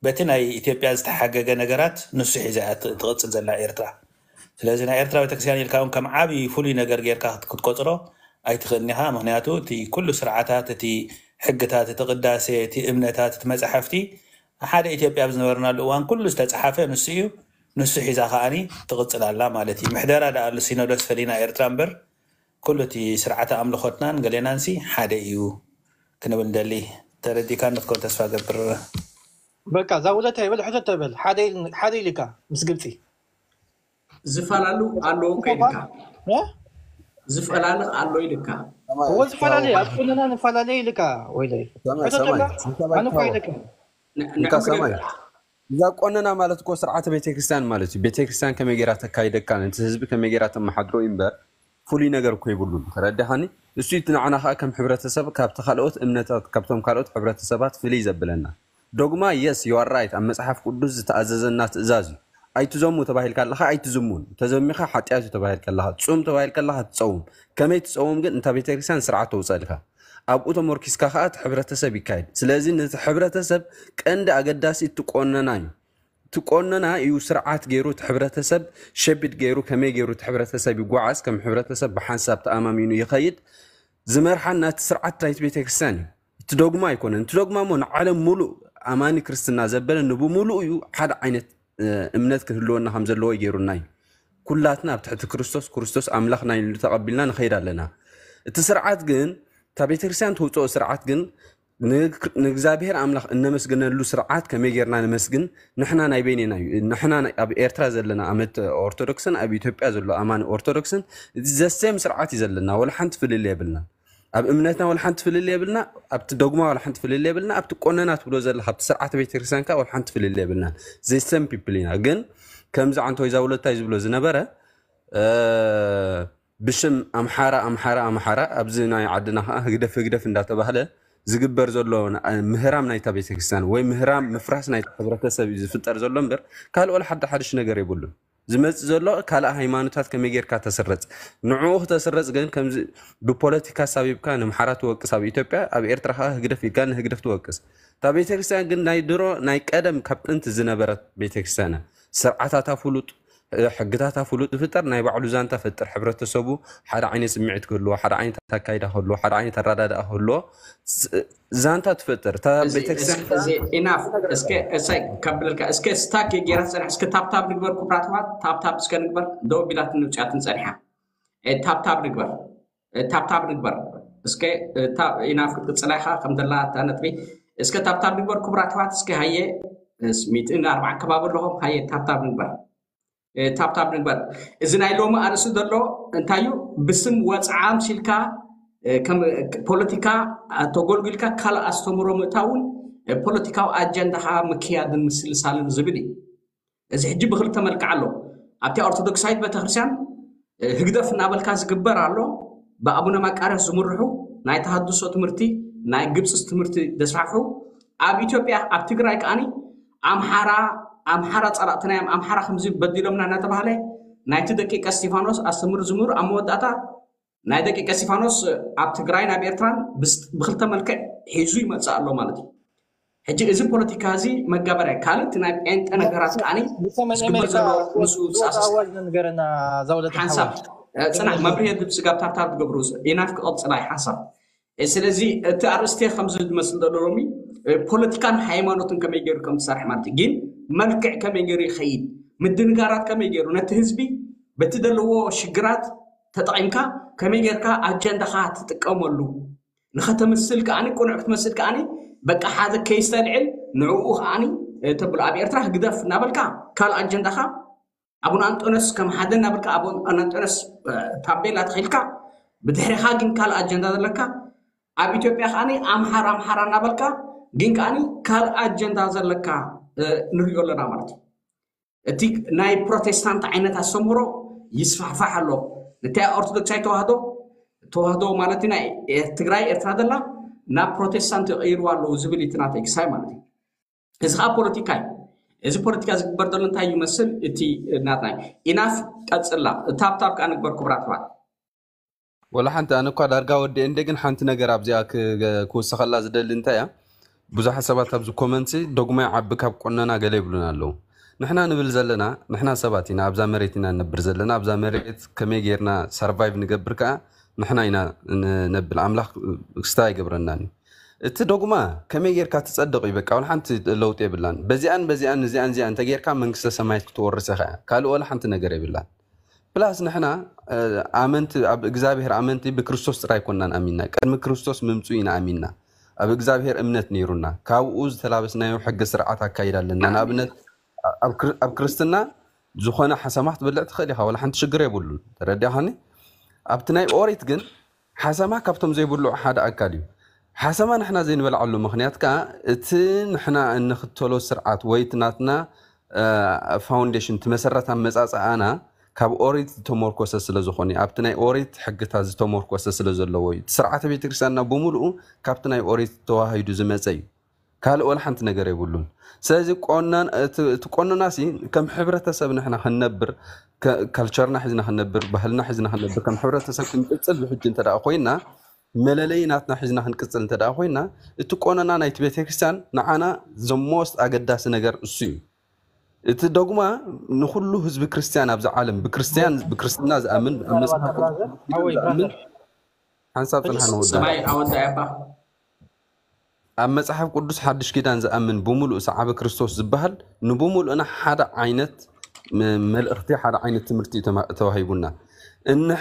በቲ ናይ ኢትዮጵያ ዝተሓገገ ነገራት ንሱ ሒዛ እያ ት- ትቕፅል ዘላ ኤርትራ። ስለዚ ናይ ኤርትራ ቤተክርስትያን ኢልካ እውን ከም ዓብዪ ፍሉይ ነገር ጌርካ ክት- ክትቆፅሮ ኣይትኽእልን ኢኻ። ምክንያቱ እቲ ኩሉ ስርዓታት፣ እቲ ሕግታት፣ እቲ ቅዳሴ፣ እቲ እምነታት፣ እቲ መፅሓፍቲ ሓደ ኢትዮጵያ ኣብ ዝነበርናሉ እዋን ኩሉ ዝተፅሓፈ ንሱ እዩ። ንሱ ሒዛ ከዓኒ ትቕፅል ኣላ ማለት እዩ። ምሕደራ ደኣ ኣሎ ሲኖዶስ ፈሊና ኤርትራ እምበር ኩሉ እቲ ስርዓተ ኣምልኾትናን ገሌናንሲ ሓደ እዩ ክንብል ንደሊ። ተረዲእካ ንክትከውን ተስፋ ገብር። በቃ እዛ ውለታ ይበል ሕቶ ተበል ሓደ ኢል- ሓደ ኢልካ ምስ ግብፂ ዝፈላለ ኣሎ እኮ ኢልካ እ? ዝፈላለ ኣሎ ኢልካ እዎ ዝፈላለ ኣብ ቁንና ንፈላለ ኢልካ ወይለይ ሰማይ ሕቶ ሰማይ ተላ ሰማይ ኣነ እኳ ታወ ኢለካ ን- እንካ ንዕኡ ሰማይ ግደፍ። እዛ ቆነና ማለት እኮ ስርዓተ ቤተክርስትያን ማለት እዩ። ቤተክርስትያን ከመይ ገይራ ተካይደካ ነቲ ህዝቢ ከመይ ገይራ ተመሓድሮ እዩ እምበር ፍሉይ ነገር እኮ የብሉን። ተረዳሃኒ? እሱ እቲ ንዓና ከዓ ከም ሕብረተሰብ ካብቲ ካልኦት እምነታት ካብቶም ካልኦት ሕብረተሰባት ፍልይ ዘብለና ዶግማ የስ ዩኣር ራይት ኣብ መፅሓፍ ቅዱስ ዝተኣዘዘና ትእዛዝ እዩ። ኣይትዘሙ ተባሂልካ ኣለካ ኣይትዝሙን፣ ተዘሚካ ሓጢኣት እዩ ተባሂልካ ኣለካ፣ ፁም ተባሂልካ ኣለካ ትፀውም። ከመይ ትፀውም ግን እንታ ቤተክርስትያን ስርዓት ተውፀልካ ኣብኡ ተመርኪስካ ከዓ እቲ ሕብረተሰብ ይካየድ። ስለዚ ነቲ ሕብረተሰብ ቀንዲ ኣገዳሲ እቲ ቆነና እዩ። እቲ ቆነና እዩ ስርዓት ገይሩ እቲ ሕብረተሰብ ሸፒድ ገይሩ ከመይ ገይሩ እቲ ሕብረተሰብ ይጓዓዝ፣ ከም ሕብረተሰብ ብሓንሳብ ተኣማሚኑ ይኸይድ። ዝመርሓና እቲ ስርዓት ናይቲ ቤተክርስትያን እዩ። እቲ ዶግማ ኣይኮነን። እቲ ዶግማ እሞ ንዓለም ሙሉእ ኣማኒ ክርስትና ዘበለ ንብሙሉእ እዩ ሓደ ዓይነት እ፣ እምነት ክህልወና ከም ዘለዎ ይገይሩና እዩ። ኩላትና ኣብ ትሕቲ ክርስቶስ፣ ክርስቶስ ኣምላኽና ኢሉ ተቐቢልና ንኸይድ ኣለና። እቲ ስርዓት ግን እታ ቤተክርስትያን ተውፅኦ ስርዓት ግን ንግ- ንእግዚኣብሔር ኣምላኽ እነመስግነሉ ስርዓት ከመይ ጌርና ነመስግን? ንሕና ናይ በይኔና እዩ። ንሕና ናይ- ኣብ ኤርትራ ዘለና ኣመት ኦርቶዶክስን ኣብ ኢትዮጵያ ዘሎ ኣማኒ ኦርቶዶክስን እዚ ዘሴም ስርዓት እዩ ዘለና። ወላ ሓንቲ ፍልል የብልና። ኣብ እምነትና ወላ ሓንቲ ፍልል የብልና። ኣብቲ ዶግማ ወላ ሓንቲ ፍልል የብልና። ኣብቲ ቆነና ትብሎ ዘለካ ኣብቲ ስርዓተ ቤተክርስትያን ከ ወላ ሓንቲ ፍልል የብልና። ዘሴም ፒፕል ኢና። ግን ከምዚ ዓንተወይ ዛውለታይ ዝብሎ ዝነበረ እ፣ ብሽም ኣምሓራ ኣምሓራ ኣምሓራ ኣብዚ ናይ ዓድና ከዓ ህግደፍ ህግደፍ እንዳተባህለ ዝግበር ዘሎ ን- ምህራም ናይታ ቤተክርስትያን ወይ ምህራም ምፍራስ ናይታ ሕብረተሰብ እዩ ዝፍጠር ዘሎ እምበር ካልእ ወላ ሓደ ሓድሽ ነገር የብሉን። ዝመፅእ ዘሎ ካልእ ሃይማኖታት ከመይ ጌርካ ተስረፅ ንዕኡ ክተስረፅ ግን ከምዚ ብፖለቲካ ሳቢብካ ንምሓራ ትወቅስ ኣብ ኢትዮጵያ ኣብ ኤርትራ ከዓ ህግደፍ ኢልካ ንህግደፍ ትወቅስ። እታ ቤተክርስትያን ግን ናይ ድሮ ናይ ቀደም ካብ ጥንቲ ዝነበረት ቤተክርስትያን እያ። ስርዓታታ ፍሉጥ ሕግታታ ፍሉጥ ዝፍጠር ናይ ባዕሉ ዛንታ ፈጥር ሕብረተሰቡ ሓደ ዓይነት ስምዒት ክህልዎ ሓደ ዓይነት ኣካይዳ ክህልዎ ሓደ ዓይነት ኣረዳድኣ ክህልዎ ዛንታ ትፈጥር እታ ቤተክርስትያን ኢናፍ እስከ እሳይ ከብለልካ እስከ ስታክ ጌራ ትፀንሕ እስከ ታብታብ ንግበር ኩብራትባት ታብታብ እስከ ንግበር ደው ቢላትን ንውፅያትን ፀኒሓ ታብታብ ንግበር ታብታብ ንግበር እስከ ኢናፍ ክትቅፅላ ኢካ ከምዘላ እታ ነጥቢ እስከ ታብታብ ንግበር ኩብራትባት እስከ ሃየ ሚእትን ኣርባዓን ከባቢ ኣለኹም ሃየ ታብታብ ንግበር ታብታብ ንግበር እዚ ናይ ሎሚ ኣርእስቲ ዘሎ እንታይ እዩ ብስም ወፅዓ ምሲልካ ፖለቲካ ተጎልጉልካ ካልእ ኣስተምሮ ምእታውን ፖለቲካዊ ኣጀንዳካ ምክያድን ምስልሳልን ዝብል እዩ እዚ ሕጂ ብክልተ መልክዕ ኣሎ ኣብቲ ኦርቶዶክሳዊት ቤተክርስትያን ህግደፍ እናበልካ ዝግበር ኣሎ ብኣቡነ ማቃርዮስ ዝምርሑ ናይ ተሃድሶ ትምህርቲ ናይ ግብፅስ ትምህርቲ ዘስፋሕፉ ኣብ ኢትዮጵያ ኣብ ትግራይ ከዓኒ ኣምሓራ ኣምሓራ ፀላእትና እዮም ኣምሓራ ከምዚ በዲሎምና እናተባህለ ናይቲ ደቂቀ እስቲፋኖስ ኣስተምህሮ ዝምህሩ ኣብ መወዳእታ ናይ ደቂቀ እስቲፋኖስ ኣብ ትግራይን ኣብ ኤርትራን ብክልተ መልክዕ ሒዙ ይመፅእ ኣሎ ማለት እዩ ሕጂ እዚ ፖለቲካ እዚ መጋበርያ ካልእ እቲ ናይ ጴንጠ ነገራት ከዓኒ ዝግበር ዘሎ ምስኡ ዝኣሳስ ሓንሳብ ፅናሕ መብርሂ የድልብ ስጋብ ታብታብ ትገብሩ ኢናፍ ክቐፅላ እዩ ሓንሳብ ስለዚ እቲ ኣርእስቲ ከምዚ ዝመስል ዘሎ ሎሚ ፖለቲካን ሃይማኖትን ከመይ ገይሩ ከም ዝሰርሕ ማለት እዩ ግን መልክዕ ከመይ ገይሩ ይኸይድ ምድንጋራት ከመይ ገይሩ ነቲ ህዝቢ በቲ ዘለዎ ሽግራት ተጠቒምካ ከመይ ጌርካ ኣጀንዳኻ ትጥቀመሉ ንኸተምስል ከዓኒ ቅኑዕ ክትመስል ከዓኒ በቃ ሓደ ኬስ ተልዕል ንዕኡ ከዓኒ ተብሎ ኣብ ኤርትራ ህግደፍ እናበልካ ካልእ ኣጀንዳኻ ኣቡነ ኣንጦንዮስ ከም ሓደ እናበልካ ኣቡነ ኣንጦንዮስ ታቤላ ተኺልካ ብድሕሪኻ ግን ካልእ ኣጀንዳ ዘለካ ኣብ ኢትዮጵያ ከዓኒ ኣምሓራ ኣምሓራ እናበልካ ግን ከዓኒ ካልእ ኣጀንዳ ዘለካ ንሪኦ ኣለና ማለት እዩ እቲ ናይ ፕሮቴስታንት ዓይነት ኣስተምህሮ ይስፋሕፋሕ ኣሎ። ነቲ ኦርቶዶክሳዊ ተዋህዶ ተዋህዶ ማለት ናይ ትግራይ ኤርትራ ዘላ ናብ ፕሮቴስታንት ይቕይርዋ ኣለዉ ዝብል እቲ ናተይ ክሳይ ማለት እዩ። እዚ ከዓ ፖለቲካ እዩ። እዚ ፖለቲካ ዝግበር ዘሎ እንታይ ይመስል? እቲ ናትና ኢናፍ ቀፅላ ታብታብ ከዓ ንግበር ክቡራት ኣሕዋት። ወላ ሓንቲ ኣነ እኳ ዳርጋ ወዲኤ እንደ ግን ሓንቲ ነገር ኣብዚኣ ክወሰኸላ ዝደሊ እንታይ እያ? ብዙሓት ሰባት ኣብዚ ኮመንት ዶግማ ይዓቢ ካብ ቆነና ገለ ይብሉና ኣለዉ። ንሕና ንብል ዘለና ንሕና ሰባት ኢና፣ ኣብዛ መሬት ኢና ንነብር ዘለና። ኣብዛ መሬት ከመይ ጌርና ሰርቫይቭ ንገብር ከዓ ንሕና ኢና ነብል። ኣምላኽ ክስታ ኣይገብረናን እዩ። እቲ ዶግማ ከመይ ጌርካ ትጸድቕ እዩ፣ በቃ ወላ ሓንቲ ለውጢ የብላን። በዚኣን በዚኣን እዚኣን እዚኣን እንተጌርካ መንግስተ ሰማያት ክትወርስ ኢኻ እያ። ካልእ ወላ ሓንቲ ነገር የብላን። ፕላስ ንሕና ኣመንቲ ኣብ እግዚኣብሔር ኣመንቲ ብክርስቶስ ጥራይ ኮናን ኣሚንና፣ ቅድሚ ክርስቶስ ምምፁ ኢና ኣሚንና። ኣብ እግዚኣብሔር እምነት ነይሩና፣ ካብኡ ዝተላበስናዮ ሕጊ ስርዓት ኣካይዳ ኣለና። ንኣብነት ኣብ ክርስትና ዝኾነ ሓሰማ ክትበልዕ ትኽእል ኢኻ፣ ወላ ሓንቲ ሽግር የብሉን። ተረዲኻኒ? ኣብቲ ናይ ኦሪት ግን ሓሰማ ካብቶም ዘይብልዑ ሓደ ኣካል እዩ። ሓሰማ ንሕና ዘይንበልዓሉ ምኽንያት ከዓ እቲ ንሕና እንኽተሎ ስርዓት ወይ እቲ ናትና ፋውንዴሽን እቲ መሰረት ኣመፃፅኣና ካብ ኦሪት ዝተመርኮሰ ስለ ዝኾነ ኣብቲ ናይ ኦሪት ሕግታት ዝተመርኮሰ ስለ ዘለዎ እዩ። እቲ ስርዓተ ቤተክርስትያንና ብምሉኡ ካብቲ ናይ ኦሪት ተዋሂዱ ዝመፀ እዩ። ካልእ ወላ ሓንቲ ነገር የብሉን። ስለዚ ቆናን እቲ ቆነና ሲ ከም ሕብረተሰብ ንሕና ክንነብር ካልቸርና ሒዝና ክንነብር ባህልና ሒዝና ክንነብር ከም ሕብረተሰብ ክንቅፅል ብሕጂ እንተ ኮይና መለለይ ናትና ሒዝና ክንቅፅል እንተ ኮይና እቲ ቆነና ናይቲ ቤተክርስትያን ንዓና ዘሞስት ኣገዳሲ ነገር እሱ እዩ። እቲ ዶግማ ንኩሉ ህዝቢ ክርስትያን ኣብዚ ዓለም ብክርስትያን ብክርስትና ዝኣምን ኣብ መጽሓፍ ዝኣምን ሓንሳብ ጽንሓ ንወዳ ሰማይ ኣወዳይ ኣባ ኣብ መጽሓፍ ቅዱስ ሓድሽ ኪዳን ዝኣምን ብምሉእ ሰዓበ ክርስቶስ ዝበሃል ንብምሉእና ሓደ ዓይነት መልእኽቲ ሓደ ዓይነት ትምህርቲ ተዋሂቡና።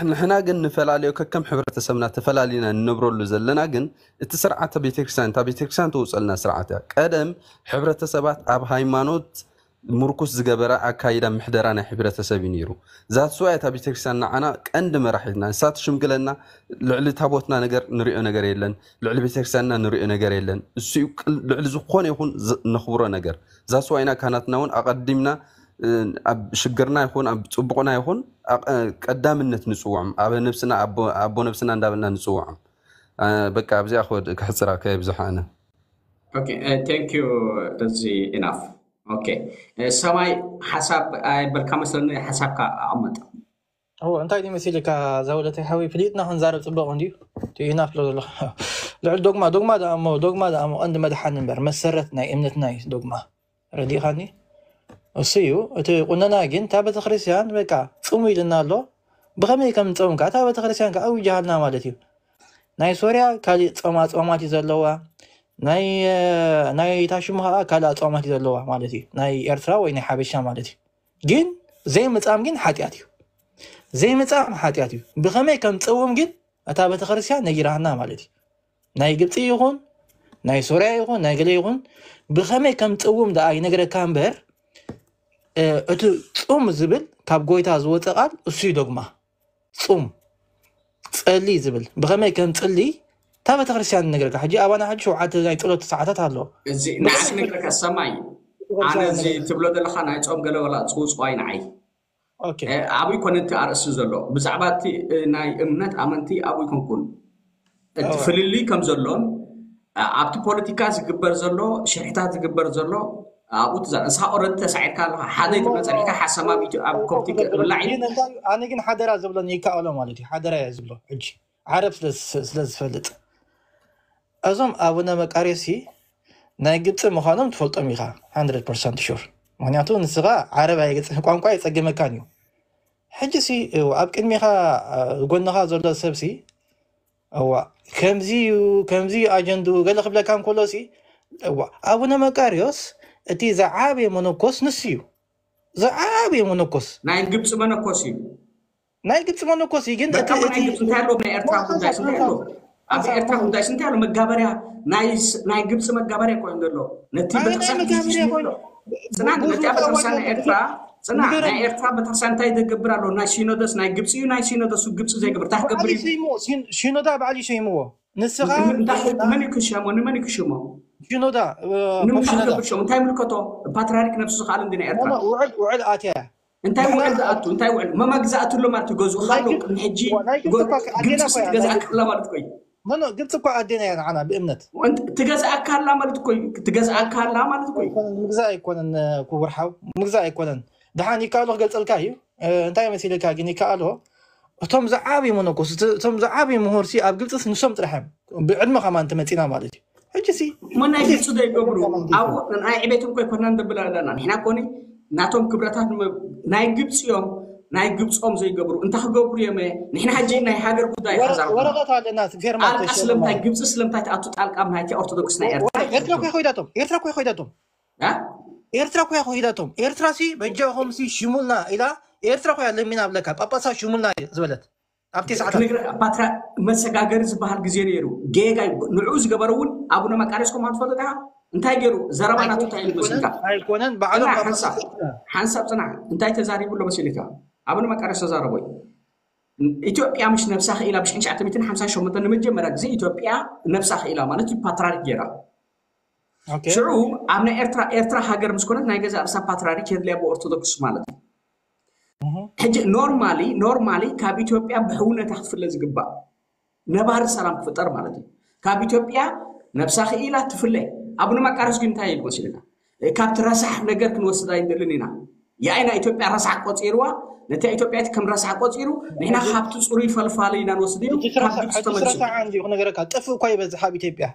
ንሕና ግን ንፈላለዮ ከከም ሕብረተሰብና ተፈላሊና ንነብረሉ ዘለና ግን እቲ ስርዓተ ቤተክርስትያን እታ ቤተክርስትያን ተውፀልና ስርዓት እያ። ቀደም ሕብረተሰባት ኣብ ሃይማኖት ምርኩስ ዝገበረ ኣካይዳ ምሕደራ ናይ ሕብረተሰብ እዩ ነይሩ። ዛትስዋ እታ ቤተክርስትያን ንዓና ቀንዲ መራሒትና ንሳ ትሽምግለና። ልዕሊ ታቦትና ነገር ንሪኦ ነገር የለን፣ ልዕሊ ቤተክርስትያንና ንሪኦ ነገር የለን። እሱ ልዕሊ ዝኾነ ይኹን ነኽብሮ ነገር ዛትስዋ ኢና ካህናትና እውን ኣቐዲምና ኣብ ሽግርና ይኹን ኣብ ፅቡቕና ይኹን ቀዳምነት ንፅውዖም ኣብ ነብስና ኣቦ ነብስና እንዳበልና ንፅውዖም። በቃ ኣብዚኣ ክሕፅራ ከየብዝሓ ኣነ ቴንክ ዩ። እዚ ኢናፍ ኦኬ። ሰማይ ሓሳብ ኣይበልካ መስለኒ፣ ሓሳብካ ኣቐምጥ። እዎ እንታይ ድዩ መሲልካ ዛውለተይ ሓወይ፣ ፍሊጥና ክንዛረብ ጽቡቕ እንድዩ። እቲ ኢናፍ ስለ ዘሎ ልዕሊ ዶግማ ዶግማ ደኣ እሞ ዶግማ ደኣ እሞ ቀንዲ መድሓኒ እምበር መሰረት ናይ እምነትና እዩ ዶግማ። ረዲእኻኒ? እሱ እዩ እቲ ቁነና። ግን እታ ቤተክርስትያን በቃ ጽሙ ኢልና ኣሎ። ብኸመይ ከም ንጸውም ከዓ እታ ቤተክርስትያን ከዓ ኣዊጃሃልና ማለት እዩ። ናይ ሶርያ ካሊእ ጾማ ጾማት እዩ ዘለዋ። ናይ ናይ ታሽሙ ከዓ ካልእ ኣጾማት እዩ ዘለዋ ማለት እዩ። ናይ ኤርትራ ወይ ናይ ሓበሻ ማለት እዩ። ግን ዘይምጻም ግን ሓጢኣት እዩ። ዘይምጻም ሓጢኣት እዩ። ብኸመይ ከም ንጸውም ግን እታ ቤተክርስትያን ነጊራና ማለት እዩ። ናይ ግብፂ ይኹን ናይ ሶርያ ይኹን ናይ ገለ ይኹን ብኸመይ ከም ትፅውም ደኣ ይነግረካ እምበር እቲ ፁም ዝብል ካብ ጎይታ ዝወፀ ቃል እሱ እዩ ዶግማ። ፁም ፀሊ ዝብል ብኸመይ ከም ፅሊ እታ ቤተክርስትያን ይነግረካ። ሕጂ ኣባና ሕጂ ሸውዓተ ናይ ፀሎት ሰዓታት ኣሎ። እዚ ንዓስ ነግረካ ሰማይ ኣነ እዚ ትብሎ ዘለካ ናይ ፆም ገለ ወላ ፅውፅዋይ ንዓይ ኣበይ ኮነ እቲ ኣርእስቲ ዘሎ ብዛዕባ እቲ ናይ እምነት ኣመንቲ ኣብኡ ይኮንኩን እቲ ፍልልይ ከም ዘሎን ኣብቲ ፖለቲካ ዝግበር ዘሎ ሽርሕታት ዝግበር ዘሎ ኣብኡ ትዛ ንስኻ ኦረዲ ተሳዒርካ ኣለካ ሓደ ይትመፀልካ ሓሰማ ኣብ ኮፕቲ ብላዕ እዩ። ኣነ ግን ሓደራ ዝብሎ ይከኣሎ ማለት እዩ። ሓደራ እየ ዝብሎ ሕጂ ዓረብ ስለ ዝፈልጥ እዞም ኣቡነ መቃርዮስ ሲ ናይ ግብፂ ምዃኖም ትፈልጦም ኢኻ። ሓንድረድ ፐርሰንት ሹር። ምክንያቱ ንስኻ ዓረብ ኣይገፅእ ቋንቋ ኣይፀገመካን እዩ። ሕጂ ሲ ኣብ ቅድሚኻ ጎንኻ ዘሎ ሰብ ሲ እዋ ከምዚ እዩ ከምዚ እዩ ኣጀንድኡ ገለ ክብለካ እንከሎ ሲ እዋ ኣቡነ መቃርዮስ እቲ ዝዓበየ መነኮስ ንሱ እዩ። ዝዓበየ መነኮስ ናይ ግብፂ መነኮስ እዩ። ናይ ግብፂ መነኮስ እዩ ግን እቲ በቃ ናይ ግብፂ እንታይ ኣለዎ? ናይ ኤርትራ ጉዳይ እንታይ ኣለዎ? ኣብ ኤርትራ ጉዳይ እንታይ ኣለዎ? መጋበርያ ናይ ግብፂ መጋበርያ ኮይኑ ዘሎ ነቲ ቤተክርስትያን ጽናዕ ነቲ ቤተክርስትያን ናይ ኤርትራ ጽናዕ ናይ ኤርትራ ቤተክርስትያን እንታይ ይገብር ኣሎ? ናይ ሲኖዶስ ናይ ግብፂ እዩ። ናይ ሲኖዶስ ግብፂ ዘይገብር እንታይ ክገብር እዩ? ሲኖዳ ባዕሉ ይሰይምዎ። ንስኻ መን ይክሸሞ? ንመን ይክሽሞ? ሽኖዳ ንምንታይ ክገብር ሸው እንታይ ምልከቶ? ፓትርያርክ ነብሱ ዝኽኣል እንዲ ናይ ኤርትራ ውዕል ውዕል ኣትያ እንታይ ውዕል ዝኣቱ እንታይ ውዕል መማግ ዝኣትሎ ማለት ይገዝኡ ካሎ ቅድሚ ሕጂ ግብፂ ትገዝኣካ ኣላ ማለት ኮይ ግብፂ እኳ ኣዴና እያ ንዓና ብእምነት ትገዝኣካ ኣላ ማለት ኮይ ትገዝኣካ ኣላ ማለት ኮይ ምግዛእ ኣይኮነን ክቡር ሓው ምግዛእ ኣይኮነን ደሓን ይከኣሎ ክገልፀልካ እዩ እንታይ መሲልካ ግን ይከኣሎ እቶም ዝዓብዩ መነኮስ እቶም ዝዓብዩ ምሁርሲ ኣብ ግብፅስ ንሶም ጥራሕ እዮም ብዕድመ ከማን ተመፂና ማለት እዩ ሕጂ ሲ እሞ ናይ ግብፂ ዶ ይገብሩ ኣብኡ ናይ ዕቤት እኮ ኣይኮናን ደብል ኣለና ንሕና ኮኒ ናቶም ክብረታት ናይ ግብፂ እዮም ናይ ግብፆም ዘይገብሩ እንታይ ክገብሩ እዮም ንሕና ሕጂ ናይ ሃገር ጉዳይ ሓዛር ወረቀት ኣለና ፌርማ ጣልቃ ስለምታይ ግብፂ ስለምታይ ትኣቱ ጣልቃ ኣብ ናይቲ ኦርቶዶክስ ናይ ኤርትራ ኤርትራ ኮ ኮይዳቶም ኤርትራ ኮ ኮይዳቶም ኤርትራ ኮ ኮይዳቶም ኤርትራ ሲ በጃኹም ሲ ሽሙልና ኢላ ኤርትራ ኮያ ለሚና ብለካ ጳጳሳ ሽሙልና ዝበለት ኣብቲ ሰዓት ፓትራ መሰጋገሪ ዝበሃል ግዜ ነይሩ ጌጋ ንዕኡ ዝገበረ እውን ኣቡነ መቃርዮስ ከም ትፈልጥ ኢኻ እንታይ ገይሩ ዘረባ ናቱ እንታይ ኢሉ መሲልካ ኣይኮነን ባዕሎም ሓንሳብ ጽና እንታይ ተዛሪቡ ኣሎ መሲልካ ኣቡነ መቃርዮስ ተዛረቦ ኢትዮጵያ ምሽ ነብሳ ክኢላ ብሽሕን ትሽዓተ ሚእትን ሓምሳን ሸሞንተን ንመጀመርያ ግዜ ኢትዮጵያ ነብሳ ክኢላ ማለት እዩ ፓትራሪክ ገይራ ሽዑ ኣብ ናይ ኤርትራ ኤርትራ ሃገር ምስ ኮነት ናይ ገዛ ርእሳ ፓትራሪክ የድልያ ብኦርቶዶክስ ማለት እዩ ሕጂ normally normally ካብ ኢትዮጵያ ብሕውነታ ክትፍለ ዝግባእ ነባሪ ሰላም ክፍጠር ማለት እዩ ካብ ኢትዮጵያ ነብሳ ክኢላ ትፍለ ኣቡነ መቃርዮስ ግን እንታይ ኢሉ መሲልካ ካብቲ ረሳሕ ነገር ክንወስድ ኣይንደልን ኢና ያይ ናይ ኢትዮጵያ ረሳሕ ቆፂርዋ ነቲ ኢትዮጵያ ከም ረሳሕ ቆፂሩ ንሕና ካብቲ ፅሩይ ፈልፋሊ ኢና ንወስድ ኢሉ ካብ ግብፂ ተመሊሱ ረሳሕ እንዲዩ ክነገረካ ጥፍ እኳ ይበዝሕ ኣብ ኢትዮጵያ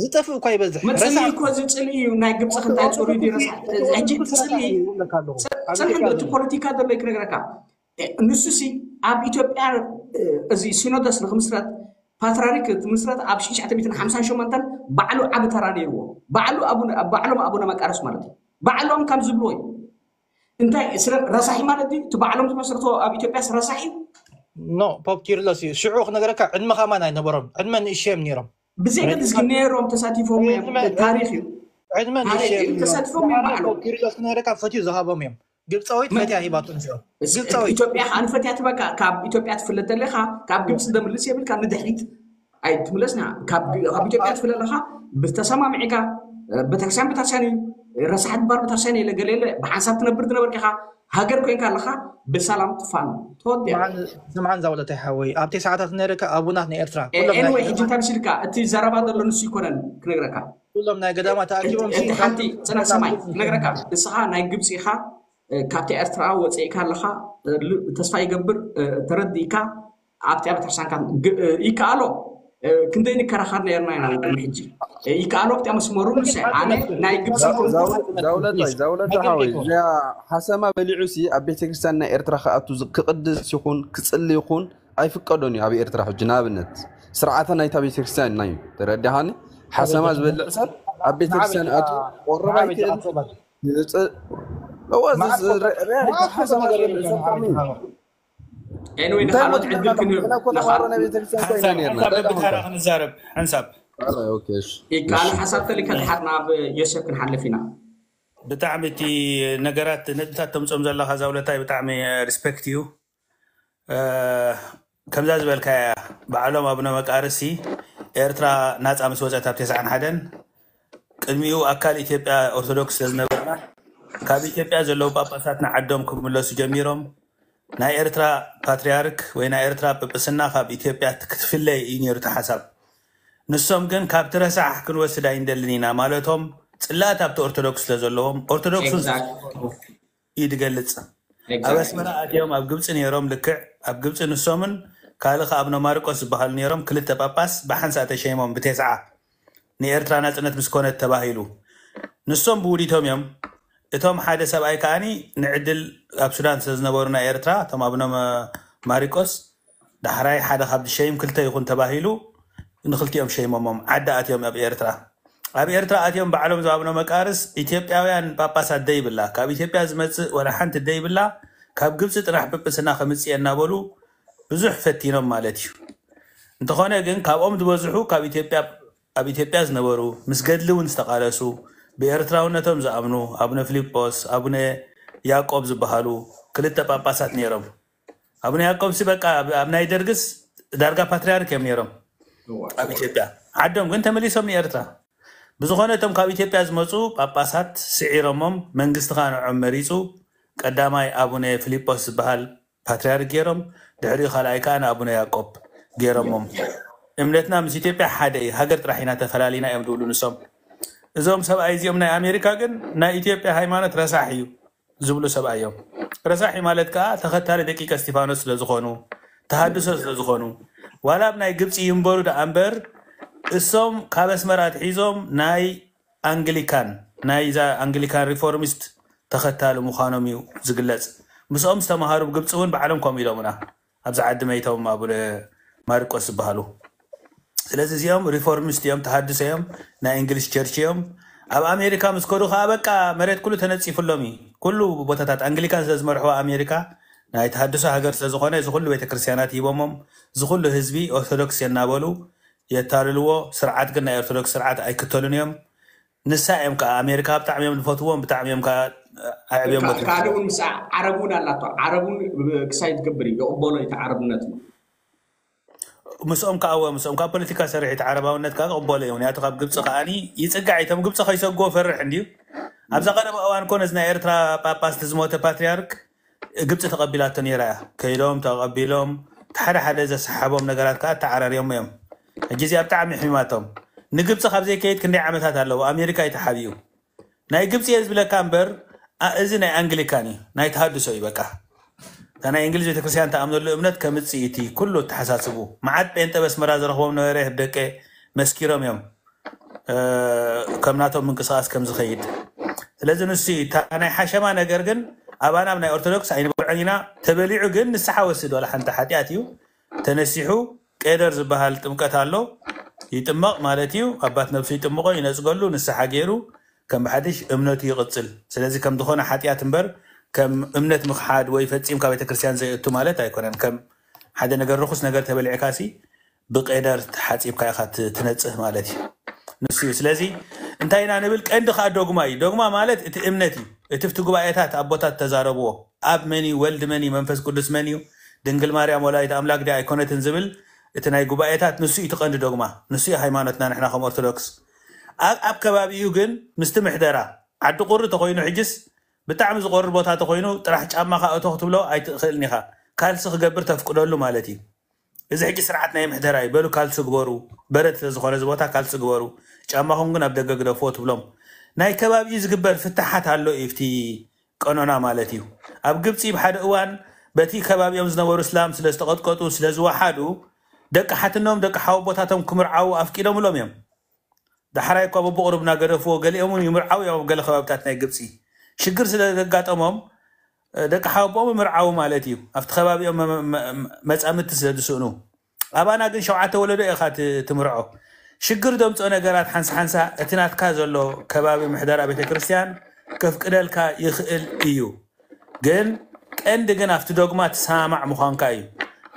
ዝጠፍእ እኳ ይበዝሕ መፅልኢ እኮ እዚ ፅልኢ እዩ ናይ ግብፂ ክንታይ ፅሩይ ድዩ ረሳሕ ሕጂ እቲ ፅልኢ ፅንሕ እቲ ፖለቲካ ዘሎ ክነግረካ ንሱ ሲ ኣብ ኢትዮጵያ እዚ ሲኖዶስ ንክምስረት ፓትራሪክ ትምስረት ኣብ ሽሽዓተ ሚእትን ሓምሳን ሸሞንተን ባዕሉ ዓቢ ተራ ነይርዎ ባዕሉ ባዕሎም ኣቡነ መቃርዮስ ማለት እዩ ባዕሎም ከም ዝብልዎ እዩ እንታይ ስለ ረሳሒ ማለት እዩ እቲ ባዕሎም ዝመስረቶ ኣብ ኢትዮጵያ ረሳሒ እዩ ኖ ፖፕ ኪርሎስ እዩ ሽዑ ክነገረካ ዕድመ ከማን ኣይነበሮም ዕድመ ንእሽዮም ነይሮም ብዘይ ገድስ ግን ነይሮም ተሳቲፎም እዮም ታሪክ እዩ ዕድመ ታሪክ እዩ ተሳቲፎም እዮም ባዕሎም ኪርሎስ ክነገረካ ፈትዩ ዝሃቦም እዮም ግብፃዊት ፈትያ ሂባቶ ንሽዑ ግብፃዊት ኢትዮጵያ ከዓ ንፈትያ ትበካ ካብ ኢትዮጵያ ትፍለጥ ኣለካ ካብ ግብፂ ደምልስ የብልካ ንድሕሪት ኣይትምለስና ካብ ኢትዮጵያ ትፍለ ኣለካ ብተሰማሚዕካ ቤተክርስትያን ቤተክርስትያን እዩ ረሳሕ ድባር ቤተክርስትያን የለ ገለ የለ ብሓንሳብ ትነብር ዝነበርካ ኢኻ ሃገር ኮይንካ ኣለካ ብሰላም ትፋን ተወዲያ ስምዓን ዛውለታይ ሓወይ ኣብቲ ሰዓታት ነርካ ኣቡናት ናይ ኤርትራ ኤንወይ ሕጂ እንታይ ምስልካ እቲ ዘረባ ዘሎ ንሱ ይኮነን ክነግረካ ኩሎም ናይ ገዳማ ተኣኪቦም እቲ ሓንቲ ፅና ሰማይ ክነግረካ ንስኻ ናይ ግብፂ ኢኻ ካብቲ ኤርትራ ወፂእካ ኣለኻ ተስፋ ይገብር ተረዲእካ ኣብቲ ቤተክርስትያንካ ይከኣሎ ክንደይ ንከራኸር ነርና ኢና ቅድሚ ሕጂ ይከኣሎ ኣብቲ መስመሩ ንሰ ኣነ ናይ ግብፂ ዛውለታ ሓሰማ በሊዑ ሲ ኣብ ቤተክርስትያን ናይ ኤርትራ ክኣቱ ክቅድስ ይኹን ክፅሊ ይኹን ኣይፍቀዶን እዩ ኣብ ኤርትራ ሕጂ ንኣብነት ስርዓተ ናይታ ቤተክርስትያን ናይ ተረዲሃኒ ሓሰማ ዝበልዕ ሰብ ኣብ ቤተክርስትያን ኣቱ ቆረብ ኣይክእል ተማሃሮ ናይ ቤተክርስትያን ኮይና ነርና ብተራ ክንዛረብ ሓንሳብ ካልእ ሓሳብ ተሊካ ተሓትና ኣብ ዮሴፍ ክንሓልፍ ኢና ብጣዕሚ እቲ ነገራት ነጥብታት ተምፅኦም ዘለካ ዛውለታይ ብጣዕሚ ሪስፔክት እዩ ከምዛ ዝበልካያ ባዕሎም ኣቡነ መቃርሲ ኤርትራ ናፃ ምስ ወፀት ኣብ ተስዓን ሓደን ቅድሚኡ ኣካል ኢትዮጵያ ኦርቶዶክስ ስለዝነበርና ካብ ኢትዮጵያ ዘለዉ ጳጳሳት ንዓዶም ክምለሱ ጀሚሮም ናይ ኤርትራ ፓትርያርክ ወይ ናይ ኤርትራ ጵጵስና ካብ ኢትዮጵያ ክትፍለይ እዩ ነይሩ እቲ ሓሳብ ንሶም ግን ካብቲ ረሳሕ ክንወስድ ኣይንደልን ኢና ማለቶም ፅላት ኣብቲ ኦርቶዶክስ ስለዘለዎም ኦርቶዶክስ እዩ ዝገልፅ ኣብ ኣስመራ ኣትዮም ኣብ ግብፂ ነይሮም ልክዕ ኣብ ግብፂ ንሶምን ካልእ ከ ኣብነ ማርቆስ ዝበሃሉ ነይሮም ክልተ ጳጳስ ብሓንሳእ ተሸይሞም ብቴስዓ ንኤርትራ ናፅነት ምስ ኮነት ተባሂሉ ንሶም ብውዲቶም እዮም እቶም ሓደ ሰብኣይ ከዓኒ ንዕድል ኣብ ሱዳን ስለዝነበሩ ናይ ኤርትራ እቶም ኣብነ ማሪቆስ ዳሕራይ ሓደ ካብ ዝሸይም ክልተ ይኹን ተባሂሉ ንክልቲኦም ሸይሞሞም ዓዲ ኣትዮም ኣብ ኤርትራ ኣብ ኤርትራ ኣትዮም ባዕሎም ዝኣብኖ መቃርስ ኢትዮጵያውያን ጳጳሳት ደይብላ ካብ ኢትዮጵያ ዝመፅእ ወላ ሓንቲ ደይብላ ካብ ግብፂ ጥራሕ ጵጵስና ከምፅእ እናበሉ ብዙሕ ፈቲኖም ማለት እዩ እንተኾነ ግን ካብኦም ዝበዝሑ ካብ ኢትዮጵያ ኣብ ኢትዮጵያ ዝነበሩ ምስ ገድሊ እውን ዝተቓለሱ ብኤርትራውነቶም ዝኣምኑ ኣቡነ ፊልጶስ ኣቡነ ያዕቆብ ዝበሃሉ ክልተ ጳጳሳት ነይሮም ኣቡነ ያዕቆብ ሲ በቃ ኣብ ናይ ደርግስ ዳርጋ ፓትርያርክ እዮም ነይሮም ኣብ ኢትዮጵያ ዓዶም ግን ተመሊሶም ንኤርትራ ብዝኾነ እቶም ካብ ኢትዮጵያ ዝመፁ ጳጳሳት ስዒሮሞም፣ መንግስቲ ከዓ ንዖም መሪፁ። ቀዳማይ ኣቡነ ፊሊጶስ ዝበሃል ፓትርያርክ ገይሮም፣ ድሕሪኡ ካልኣይ ከዓ ንኣቡነ ያዕቆብ ገይሮሞም። እምነትና ምስ ኢትዮጵያ ሓደ እዩ፣ ሃገር ጥራሕ ኢና ተፈላሊና እዮም ዝብሉ ንሶም። እዞም ሰብኣይ እዚኦም ናይ ኣሜሪካ ግን ናይ ኢትዮጵያ ሃይማኖት ረሳሕ እዩ ዝብሉ ሰብኣይ እዮም። ረሳሒ ማለት ከዓ ተኸታሊ ደቂቀ እስቲፋኖስ ስለዝኾኑ፣ ተሃድሶ ስለዝኾኑ፣ ዋላ ኣብ ናይ ግብፂ ይንበሩ ደኣ እምበር እሶም ካብ ኣስመራ ኣትሒዞም ናይ ኣንግሊካን፣ ናይዛ ኣንግሊካን ሪፎርሚስት ተኸታሊ ምዃኖም እዩ ዝግለጽ። ምስኦም ዝተምሃሩ ብግብፂ እውን ባዕሎም ከምኡ ኢሎምና፣ ኣብዚ ዓዲ መይቶም ኣቡነ ማርቆስ ዝበሃሉ። ስለዚ እዚኦም ሪፎርሚስት እዮም፣ ተሃድሶ እዮም፣ ናይ እንግሊሽ ቸርች እዮም። ኣብ ኣሜሪካ ምስ ከዱ ከዓ በቃ መሬት ኩሉ ተነፂፍሎም እዩ። ኩሉ ቦታታት ኣንግሊካን ስለ ዝመርሕዋ ኣሜሪካ ናይ ተሃድሶ ሃገር ስለ ዝኾነ እዚ ኩሉ ቤተክርስትያናት ሂቦሞም፣ እዚ ኩሉ ህዝቢ ኦርቶዶክስ የናበሉ የታልልዎ። ስርዓት ግን ናይ ኦርቶዶክስ ስርዓት ኣይክተሉን እዮም። ንሳ እዮም ከዓ ኣሜሪካ ብጣዕሚ እዮም ዝፈትዎም፣ ብጣዕሚ እዮም ከዓ ኣዕብዮም በትዎም። ካልእ እውን ምስ ዓረብ እውን ኣላቶ። ዓረብ እውን ክሳይ ትገብር እዩ፣ ይቕበሎ እዩ እቲ ዓረብነት። ምስኦም ከዓ እወ፣ ምስኦም ከዓ ፖለቲካ ሰሪሕ እቲ ዓረባውነት ከዓ ክቕበሎ እዩ። ምክንያቱ ካብ ግብፂ ከዓኒ ይፅጋዕ እዩ። እቶም ግብፂ ከይሰግዎ ፈርሕ እንድዩ። ኣብዛ ቀደም እዋን እኮ ነዚ ናይ ኤርትራ ጳጳስ እቲ ዝሞተ ፓትርያርክ ግብፂ ተቐቢላቶ ነይራ እያ። ከይዶም ተቐቢሎም እቲ ሓደ ሓደ ዘሰሓቦም ነገራት ከዓ ተዓራርዮም እዮም። ሕጂ እዚኣ ብጣዕሚ ሕሚማቶም። ንግብፂ ካብ ዘይከይድ ክንደይ ዓመታት ኣለዎ፣ ኣሜሪካ እዩ ተሓቢኡ። ናይ ግብፂ እየ ዝብለካ እምበር፣ ኣ-፣ እዚ ናይ ኣንግሊካን እዩ፣ ናይ ተሃድሶ እዩ። በቃ እታ ናይ እንግሊዝ ቤተክርስትያን ተኣምነሉ እምነት ከምፅእ እቲ ኩሉ ተሓሳስቡ። መዓት ጴንጠ በስመራ ዝረኽቦም ነበረ ደቀ መስኪሮም እዮም፣ እ፣ ከም ናቶም ምንቅስቃስ ከም ዝኸይድ። ስለዚ ንሱ እዩ እታ ናይ ሓሸማ ነገር ግን ኣባና ኣብ ናይ ኦርቶዶክስ ኣይንበልዖን ኢና። ተበሊዑ ግን ንስሓ ወስድ፣ ዋላ ሓንቲ ሓጢኣት እዩ። ተነሲሑ ቄደር ዝበሃል ጥምቀት ኣሎ፣ ይጥመቕ ማለት እዩ። ኣባት ነብሱ ይጥምቆ፣ ይነጽገሉ፣ ንስሓ ገይሩ ከም ብሓድሽ እምነቱ ይቕጽል። ስለዚ ከም ዝኾነ ሓጢኣት እምበር ከም እምነት ምኽሓድ ወይ ፈጺምካ ቤተክርስትያን ዘየእቱ ማለት ኣይኮነን። ከም ሓደ ነገር ርኹስ ነገር ተበሊዕካሲ ብቄደር ተሓጺብካ ኢኻ ት-፣ ትነጽህ ማለት እዩ። ንሱ እዩ። ስለዚ እንታይ ኢና ንብል? ቀንዲ ከዓ ዶግማ እዩ። ዶግማ ማለት እቲ እምነት እዩ። እቲ ኣብቲ ጉባኤታት ኣቦታት ተዛረብዎ። ኣብ መን እዩ? ወልድ መን እዩ? መንፈስ ቅዱስ መን እዩ? ድንግል ማርያም ወላዲት ኣምላክ ድያ ኣይኮነትን ዝብል እቲ ናይ ጉባኤታት ንሱ እዩ እቲ ቀንዲ ዶግማ። ንሱ እዩ ሃይማኖትና ንሕና ከም ኦርቶዶክስ። ኣብ፣ ኣብ ከባቢኡ ግን ምስቲ ምሕደራ ዓዲ ቁሪ ተኮይኑ ሕጅስ ብጣዕሚ ዝቆርር ቦታ ተኮይኑ ጥራሕ ጫማኻ እቶ ክትብሎ ኣይትኽእልን ኢኻ። ካልሲ ክገብር ተፍቅደሉ ማለት እዩ። እዚ ሕጂ ስርዓት ናይ ምሕደራ እዩ። በሉ ካልሲ ግበሩ፣ በረድ ስለ ዝኾነ እዚ ቦታ ካልሲ ግበሩ፣ ጫማኹም ግን ኣብ ደገ ግደፍዎ ትብሎም። ናይ ከባቢኡ ዝግበር ፍታሓት ኣሎ እዩ፣ ኣብቲ ቀኖና ማለት እዩ። ኣብ ግብፂ ብሓደ እዋን በቲ ከባቢኦም ዝነበሩ እስላም ስለ ዝተቐጥቀጡ፣ ስለ ዝወሓዱ፣ ደቂ ሓትኖም፣ ደቂ ሓወቦታቶም ክምርዓዉ ኣፍቂዶምሎም እዮም። ዳሕራይ እኳ በብቑሩብ እናገደፍዎ፣ ገሊኦም እውን ይምርዓዉ እዮም። ኣብ ገለ ከባብታት ናይ ግብፂ ሽግር ስለ ዘጋጠሞም፣ እ፣ ደቂ ሓወቦኦም ይምርዓዉ ማለት እዩ። ኣብቲ ከባቢኦም መ-፣ መ-፣ መ-፣ መጻምድቲ ስለ ዝስእኑ። ኣባና ግን ሸውዓተ ወለዶ ኢኻ ት-፣ ትምርዖ። ሽግር ዘምፅኦ ነገራት ሓንሳ ሓንሳ እቲ ናትካ ዘሎ ከባቢ ምሕደራ ቤተ ክርስቲያን ከፍቅደልካ ይኽእል እዩ። ግን ቀንዲ ግን ኣብቲ ዶግማ ትሰማማዕ ምዃንካ እዩ።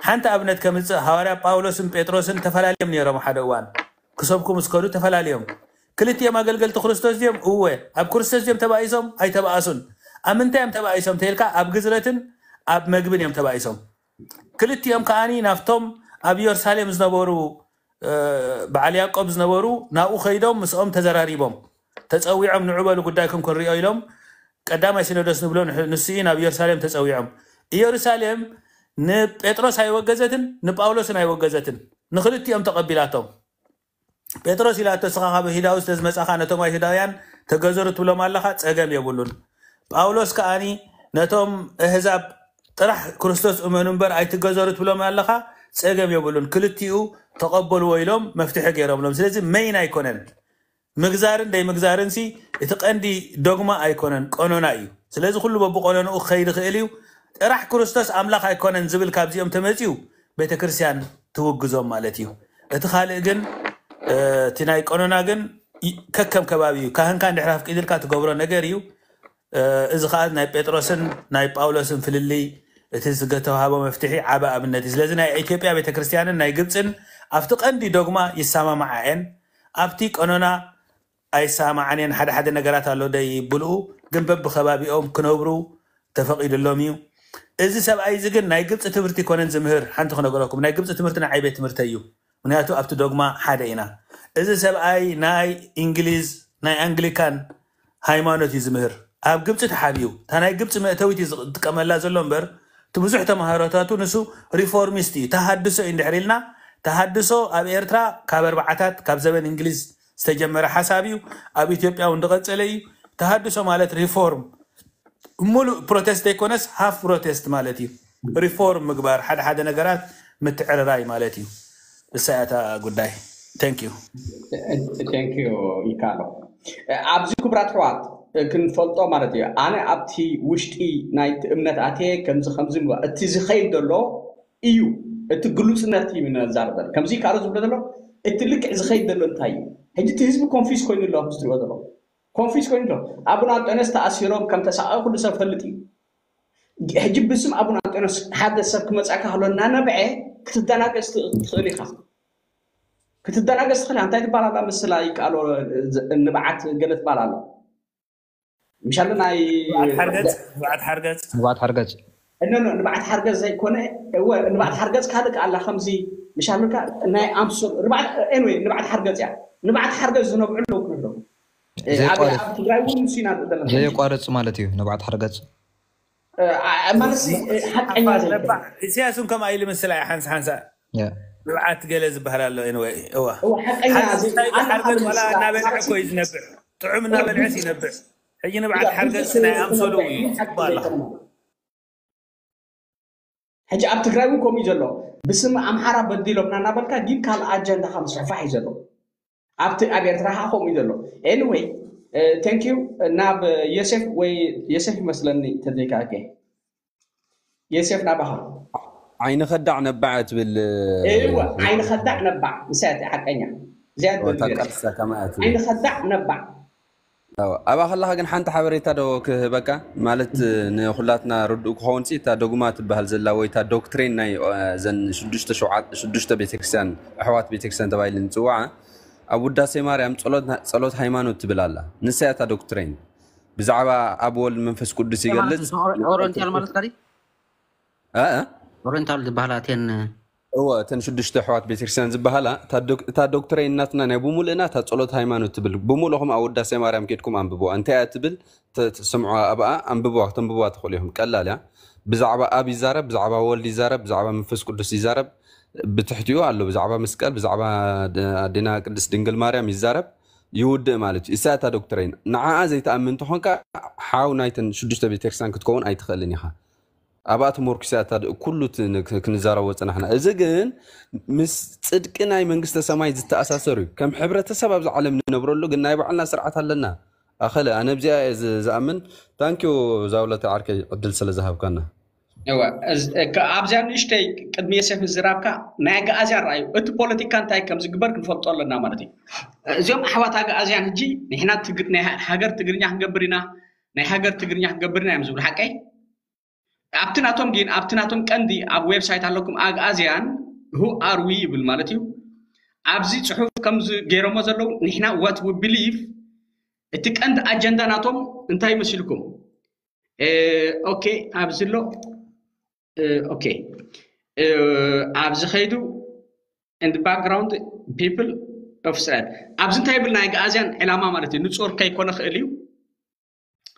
ሓንቲ ኣብነት ከምፅእ፣ ሃዋርያ ጳውሎስን ጴጥሮስን ተፈላለዮም ነይሮም። ሓደ እዋን ክሰብኩ ምስ ከዱ ተፈላለዮም። ክልቲኦም ኣገልገልቲ ክርስቶስ ድዮም? እወ። ኣብ ክርስቶስ ድዮም ተባኢሶም? ኣይተባእሱን። ኣብ ምንታይ እዮም ተባኢሶም ተይልካ፣ ኣብ ግዝረትን ኣብ መግብን እዮም ተባኢሶም። ክልቲኦም ከዓኒ ናብቶም ኣብ ኢየሩሳሌም ዝነበሩ፣ እ፣ በዓል ያዕቆብ ዝነበሩ ናብኡ ከይዶም ምስኦም ተዘራሪቦም። ተጸዊዖም ንዑ በሉ ጉዳይኩም ክንሪኦ ኢሎም ቀዳማይ ሲኖዶስ ንብሎ ንሕ-፣ ንሱ እዩ ናብ ኢየሩሳሌም ተጸዊዖም። ኢየሩሳሌም ንጴጥሮስ ኣይወገዘትን ንጳውሎስን ኣይወገዘትን። ንክልቲኦም ተቐቢላቶም። ጴጥሮስ ኢላቶ፣ "እስኻ ካብ ይሁዳዊ ስለ ዝመጻኻ ነቶም ኣይሁዳውያን ተገዘሩ ትብሎም ኣለኻ፣ ጸገም የብሉን። ጳውሎስ ከኣኒ ነቶም ኣህዛብ ጥራሕ ክርስቶስ እመኑ እምበር ኣይትገዘሩ ትብሎም ኣለኻ፣ ጸገም የብሉን። ክልቲኡ ተቐበልዎ" ኢሎም መፍትሒ ገይሮምሎም። ስለዚ መይን ኣይኮነን። ምግዛርን ደይ ምግዛርን ሲ እቲ ቀንዲ ዶግማ ኣይኮነን፣ ቀኖና እዩ። ስለዚ ኩሉ በብቀኖንኡ ክኸይድ ይኽእል እዩ። ጥራሕ ክርስቶስ ኣምላኽ ኣይኮነን ዝብል ካብዚኦም ተመጺኡ ቤተክርስትያን ትውግዞም ማለት እዩ። እቲ ካልእ ግን፣ እ፣ እቲ ናይ ቀኖና ግን ይ-፣ ከከም ከባቢ እዩ። ካህንካ እንድሕር ኣፍቂድልካ ትገብሮ ነገር እዩ። እ፣ እዚ ኸኣ ናይ ጴጥሮስን ናይ ጳውሎስን ፍልልይ፣ እቲ ዝተዋህቦ መፍትሒ ዓቢ ኣብነት እዩ። ስለዚ ናይ ኢትዮጵያ ቤተክርስትያንን ናይ ግብጽን ኣብቲ ቀንዲ ዶግማ ይሰማማዓ እየን። ኣብቲ ቀኖና ኣይሰማማዓን እየን። ሓደ ሓደ ነገራት ኣሎ ደይ ብልኡ፣ ግን በብኸባቢኦም ክነብሩ ተፈቒድሎም እዩ። እዚ ሰብኣይ እዚ ግን ናይ ግብፂ ትምህርቲ ኣይኮነን ዝምህር። ሓንቲ ክነገረኩም፣ ናይ ግብፂ ትምህርቲ ንዓይ ቤት ትምህርተይ እዩ። ምክንያቱ ኣብቲ ዶግማ ሓደ ኢና። እዚ ሰብኣይ ናይ እንግሊዝ ናይ ኣንግሊካን ሃይማኖት እዩ ዝምህር። ኣብ ግብፂ ተሓቢኡ እታ ናይ ግብፂ መእተዊት እዩ ዝጥቀመላ ዘሎ እምበር እቲ ብዙሕ ተማሃሮታቱ ንሱ ሪፎርሚስት እዩ፣ ተሃድሶ እዩ እንድሕር ኢልና፣ ተሃድሶ ኣብ ኤርትራ ካብ ኣርባዓታት ካብ ዘበን እንግሊዝ ዝተጀመረ ሓሳብ እዩ። ኣብ ኢትዮጵያ እውን ዝቐፀለ እዩ። ተሃድሶ ማለት ሪፎርም፣ ሙሉእ ፕሮቴስት ዘይኮነስ ሃፍ ፕሮቴስት ማለት እዩ። ሪፎርም ምግባር፣ ሓደ ሓደ ነገራት ምትዕርራይ ማለት እዩ። እሳ እያ እታ ጉዳይ። Thank you። Thank you ይካሎ። ኣብዚ ክቡራት ኣሕዋት ክንፈልጦ ማለት እዩ። ኣነ ኣብቲ ውሽጢ ናይቲ እምነት ኣትየ ከምዚ ከምዚ ምባ-፣ እቲ ዝኸይድ ዘሎ እዩ። እቲ ግሉጽነት እዩ ነዛርበል። ከምዚ ካልኦ ዝብሎ ዘሎ እቲ ልክዕ ዝኸይድ ዘሎ እንታይ እዩ? ሕጂ እቲ ህዝቢ ኮንፊዝ ኮይኑ ኣሎ ኣብዚ ትሪኦ ዘሎ። ኮንፊዝ ኮይኑ ኣሎ። ኣቡነ ኣንጦንዮስ ተኣሲሮም ከም ተሳቐ ኩሉ ሰብ ፈልጥ እዩ። ሕጂ ብስም ኣቡነ ኣንጦንዮስ ሓደ ሰብ ክመጻካ ከሎ እናነብዐ ክትደናገጽ ትኽእል ኢኻ። ክትደናገጽ ትኽእል ኢኻ። እንታይ ትባል ኣላ ምስላ ይቃሎ ንብዓት ገለ ትባል ኣሎ። ምሻሉ ናይ ንብዓት ሓርገጽ፣ ንብዓት ሓርገጽ። ንብዓት ሓርገጽ። እነ ንብዓት ሓርገጽ ዘይኮነ፣ እወ ንብዓት ሓርገጽ ካልእ ኣላ ከምዚ ምሻሉካ ናይ ኣምሶል ንብዓት፣ ኤንወይ ንብዓት ሓርገጽ እያ። ንብዓት ሓርገጽ ዝነብዑ ኣለዉ ክንብሎ። እ፣ ኣብ ዘየቋርጽ። ኣብ ትግራይ እውን ንሱ ኢና ዘለና። ዘየቋርጽ ማለት እዩ ንብዓት ሓርገጽ። እ፣ ኣ- ማለት ሲ- እ፣ ሓቀኛ ዘይኮነ። ነባዕ ኢሳያስ እውን ከምኣ ኢሉ ምስላ ሓንሳ ሓንሳ ያ። ንብዓት ገለ ዝበሃል ኣሎ። ኤንወይ እዋ እወ ሓቀኛ ሓርገጽ ዘይ- እንታይ ኣነ ሓርገጽ ሓደ ዋላ ምስላ እናበልዐ ሳሲ- እኮ እዩ ዝነብዕ። ጥዑም እናበልዐስ ይነብዕ። ሕጂ ንብዓት ያ፣ ሓርገጽ ብዙሕ ናይ ኣምሰሉ ዘይኮነ እዩ ሓቂ ጽቡቅ ኣለኻ። ዘይኮነ። ሕጂ ኣብ ትግራይ እውን ከምኡ እዩ ዘሎ። ብስም ኣምሓራ በዲሎምና እናበልካ ግን ካልእ ኣጀንዳኻ ምስፍሕፋሕ እዩ ዘሎ። ኣብቲ ኣብ ኤርትራ ከዓ ከምኡ እዩ ዘሎ። ኤኒወይ፣ ቴንክ ዩ። ናብ የሴፍ ወይ የሴፍ ይመስለኒ ተዘይካ። ኦኬ፣ የሴፍ ናባኻ። ዓይኒ ከዳዕ ነባዕ ትብል። እወ፣ ዓይኒ ከዳዕ ነባዕ፣ ንሳ እያ ሓቀኛ። እዚኣ እያ እታ ትብል። ቀልሳ ከማያ ትብል። ዓይኒ ከዳዕ ነባዕ። ኣዎ፣ ኣብኣ ከለኻ ግን ሓንቲ ሓበሬታ ዶ ክህበካ? ማለት ንኹላትና ርዱእ ክኸውን ሲ እታ ዶግማ ትበሃል ዘላ ወይ እታ ዶክትሬን ናይ እ፣ ዘን ሽዱሽተ ሸውዓ- ሽዱሽተ ቤተክርስትያን ኣሕዋት ቤተክርስትያን ተባሂለን ዝፅዋዓ ኣብ ውዳሴ ማርያም ጸሎት ና- ጸሎት ሃይማኖት ትብል ኣላ። ንሳ እያ እታ ዶክትሬን ብዛዕባ ኣብ ወልድ መንፈስ ቅዱስ ይገልጽ። ኦሪንታል ማለት ካዲ እ፣ እ? ኦሪንታል ዝበሃላ እተን እወ እተን ሽዱሽተ ኣሕዋት ቤተክርስትያን ዝበሃላ እታ ዶክ- እታ ዶክትሬን ናትና ናይ ብሙሉእና እታ ጸሎት ሃይማኖት ትብል። ብሙሉእኹም ኣብ ውዳሴ ማርያም ኬድኩም ኣንብብዋ። እንታይ እያ ትብል? ተ- ትስምዑ ኣብኣ ኣንብብዋ፣ ተንብብዋ ትኽእሉ ኢኹም። ቀላል እያ። ብዛዕባ ኣብ ይዛረብ፣ ብዛዕባ ወልድ ይዛረብ፣ ብዛዕባ መንፈስ ቅዱስ ይዛረብ። ብትሕቲኡ ኣሎ ብዛዕባ መስቀል፣ ብዛዕባ ድ- ኣዴና ቅድስት ድንግል ማርያም ይዛረብ፣ ይውድእ ማለት እዩ። እሳ እታ ዶክትሬን ንዓኣ ዘይትኣምን እንተኾንካ ሓው ናይተን ሽዱሽተ ቤተክርስትያን ክትከውን ኣይትኽእልን ኢኻ። ኣብኣ ተመርኩሰ እያ እታ ድ- ኩሉ እቲ ን- ክ- ክንዛረቦ ዝጸናሕና። እዚ ግን ምስ ጽድቂ ናይ መንግስተ ሰማይ ዝተኣሳሰር እዩ። ከም ሕብረተሰብ ኣብዚ ዓለም ንነብረሉ ግን ናይ ባዕልና ስርዓት ኣለና። ኣኸለ ኣነ ኣብዚኣ እየ ዝ- ዝኣምን። ታንኪዩ ዛውለተ ዓርከይ ዕድል ስለ ዝሃብካና። እወ፣ እዝ- እ፣ ከ- ኣብዚኣ ንእሽተይ ቅድሚ የሴፍ ዝራብካ ናይ ኣግኣዝያን ረኣዩ። እቲ ፖለቲካ እንታይ ከም ዝግበር ክንፈልጦ ኣለና ማለት እዩ። እዚኦም ኣሕዋት ኣግኣዝያን ሕጂ ንሕና ትግ- ናይ ሃ- ሃገር ትግርኛ ክንገብር ኢና፣ ናይ ሃገር ትግርኛ ክንገብር ኢና እዮም ዝብሉ ሓቀይ። ኣብቲ ናቶም ግን ኣብቲ ናቶም ቀንዲ ኣብ ዌብሳይት ኣለኩም ኣግኣዝያን who are we ይብል ማለት እዩ። ኣብዚ ጽሑፍ ከም ገይሮሞ ዘለዉ ንሕና what we believe እቲ ቀንዲ ኣጀንዳ ናቶም እንታይ መሲልኩም? እ፣ ኦኬ ኣብዚ ኣሎ። እ፣ ኦኬ እ፣ ኣብዚ ከይዱ in the background people of Israel ኣብዚ እንታይ ይብል ናይ ኣግኣዝያን ዕላማ ማለት እዩ። ንጹር ከይኮነ ክእል እዩ።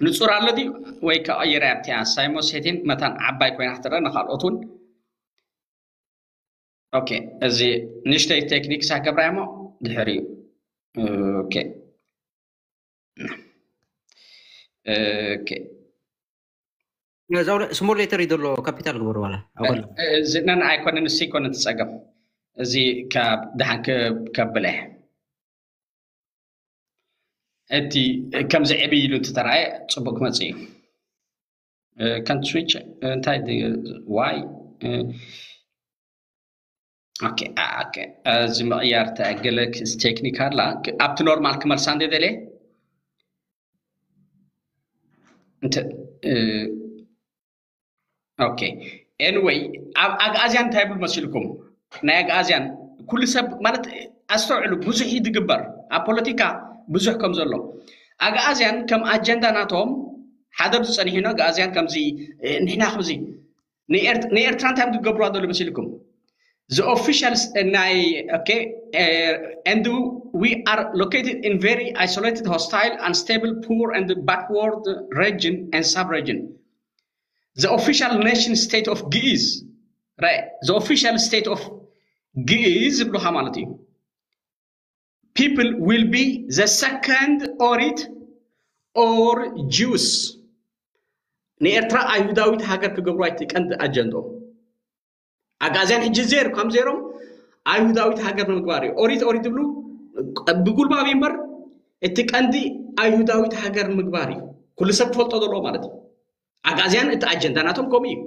ንጹር ኣሎ ድዩ ወይ ከቐይር ኣብቲ ሳይሞን ሴቲን መታን ዓባይ ኮይና ክትረአ ንካልኦት እውን። ኦኬ እዚ ንእሽተይ ቴክኒክ ሳገብራ እሞ ድሕሪኡ። ኦኬ ኦኬ እዛው ስሞል ሌተር ይደሎ ካፒታል ግበሩ ዋላ ኣቆል እዚ ነን ኣይኮነን እሱ ይኮነ ትጸገም። እዚ ካብ ደሓን ከብለ እቲ ከምዚ ዕብይ ኢሉ እንትተራየ ጽቡቅ ክመጽእ እዩ። ከንት ስዊች እንታይ ዋይ ኦኬ ኦኬ እዚ ምቕያር ተገለ ቴክኒክ ኣላ። ኣብቲ ኖርማል ክመልሳ እንደ ደለ እንተ ኦኬ ኤንወይ ኣብ ኣግኣዝያን እንታይ ይብል መሲልኩም? ናይ ኣግኣዝያን ኩሉ ሰብ ማለት ኣስተውዕሉ፣ ብዙሕ እዩ ዝግበር ኣብ ፖለቲካ ብዙሕ ከም ዘሎ ኣግኣዝያን ከም ኣጀንዳ ናቶም ሓደ ኣብዚ ጸኒሑ ነው። ኣግኣዝያን ከምዚ ንሕና ከምዚ ንኤርትራ እንታይ ትገብሩ ዘሎ መሲልኩም? The officials, uh, ናይ okay, uh, and we are located in very isolated, hostile, unstable, poor, and backward region and sub-region. The official nation state of Giz, right? The official state of Giz ዝብሉኻ ማለት እዩ። People will be the second Orit or Jews. ንኤርትራ ኣይሁዳዊት ሃገር ክገብሩ ኣይትቀንዲ ኣጀንዶ ኣጋዝያን ሕጂ ዜር ከም ዜሮም ኣይሁዳዊት ሃገር ንምግባር እዩ። ኦሪት ኦሪት ዝብሉ ብጉልባብ እምበር እቲ ቀንዲ ኣይሁዳዊት ሃገር ንምግባር እዩ። ኩሉ ሰብ ክፈልጦ ዘለዎ ማለት እዩ። ኣጋዝያን እቲ ኣጀንዳ ናቶም ከምኡ እዩ።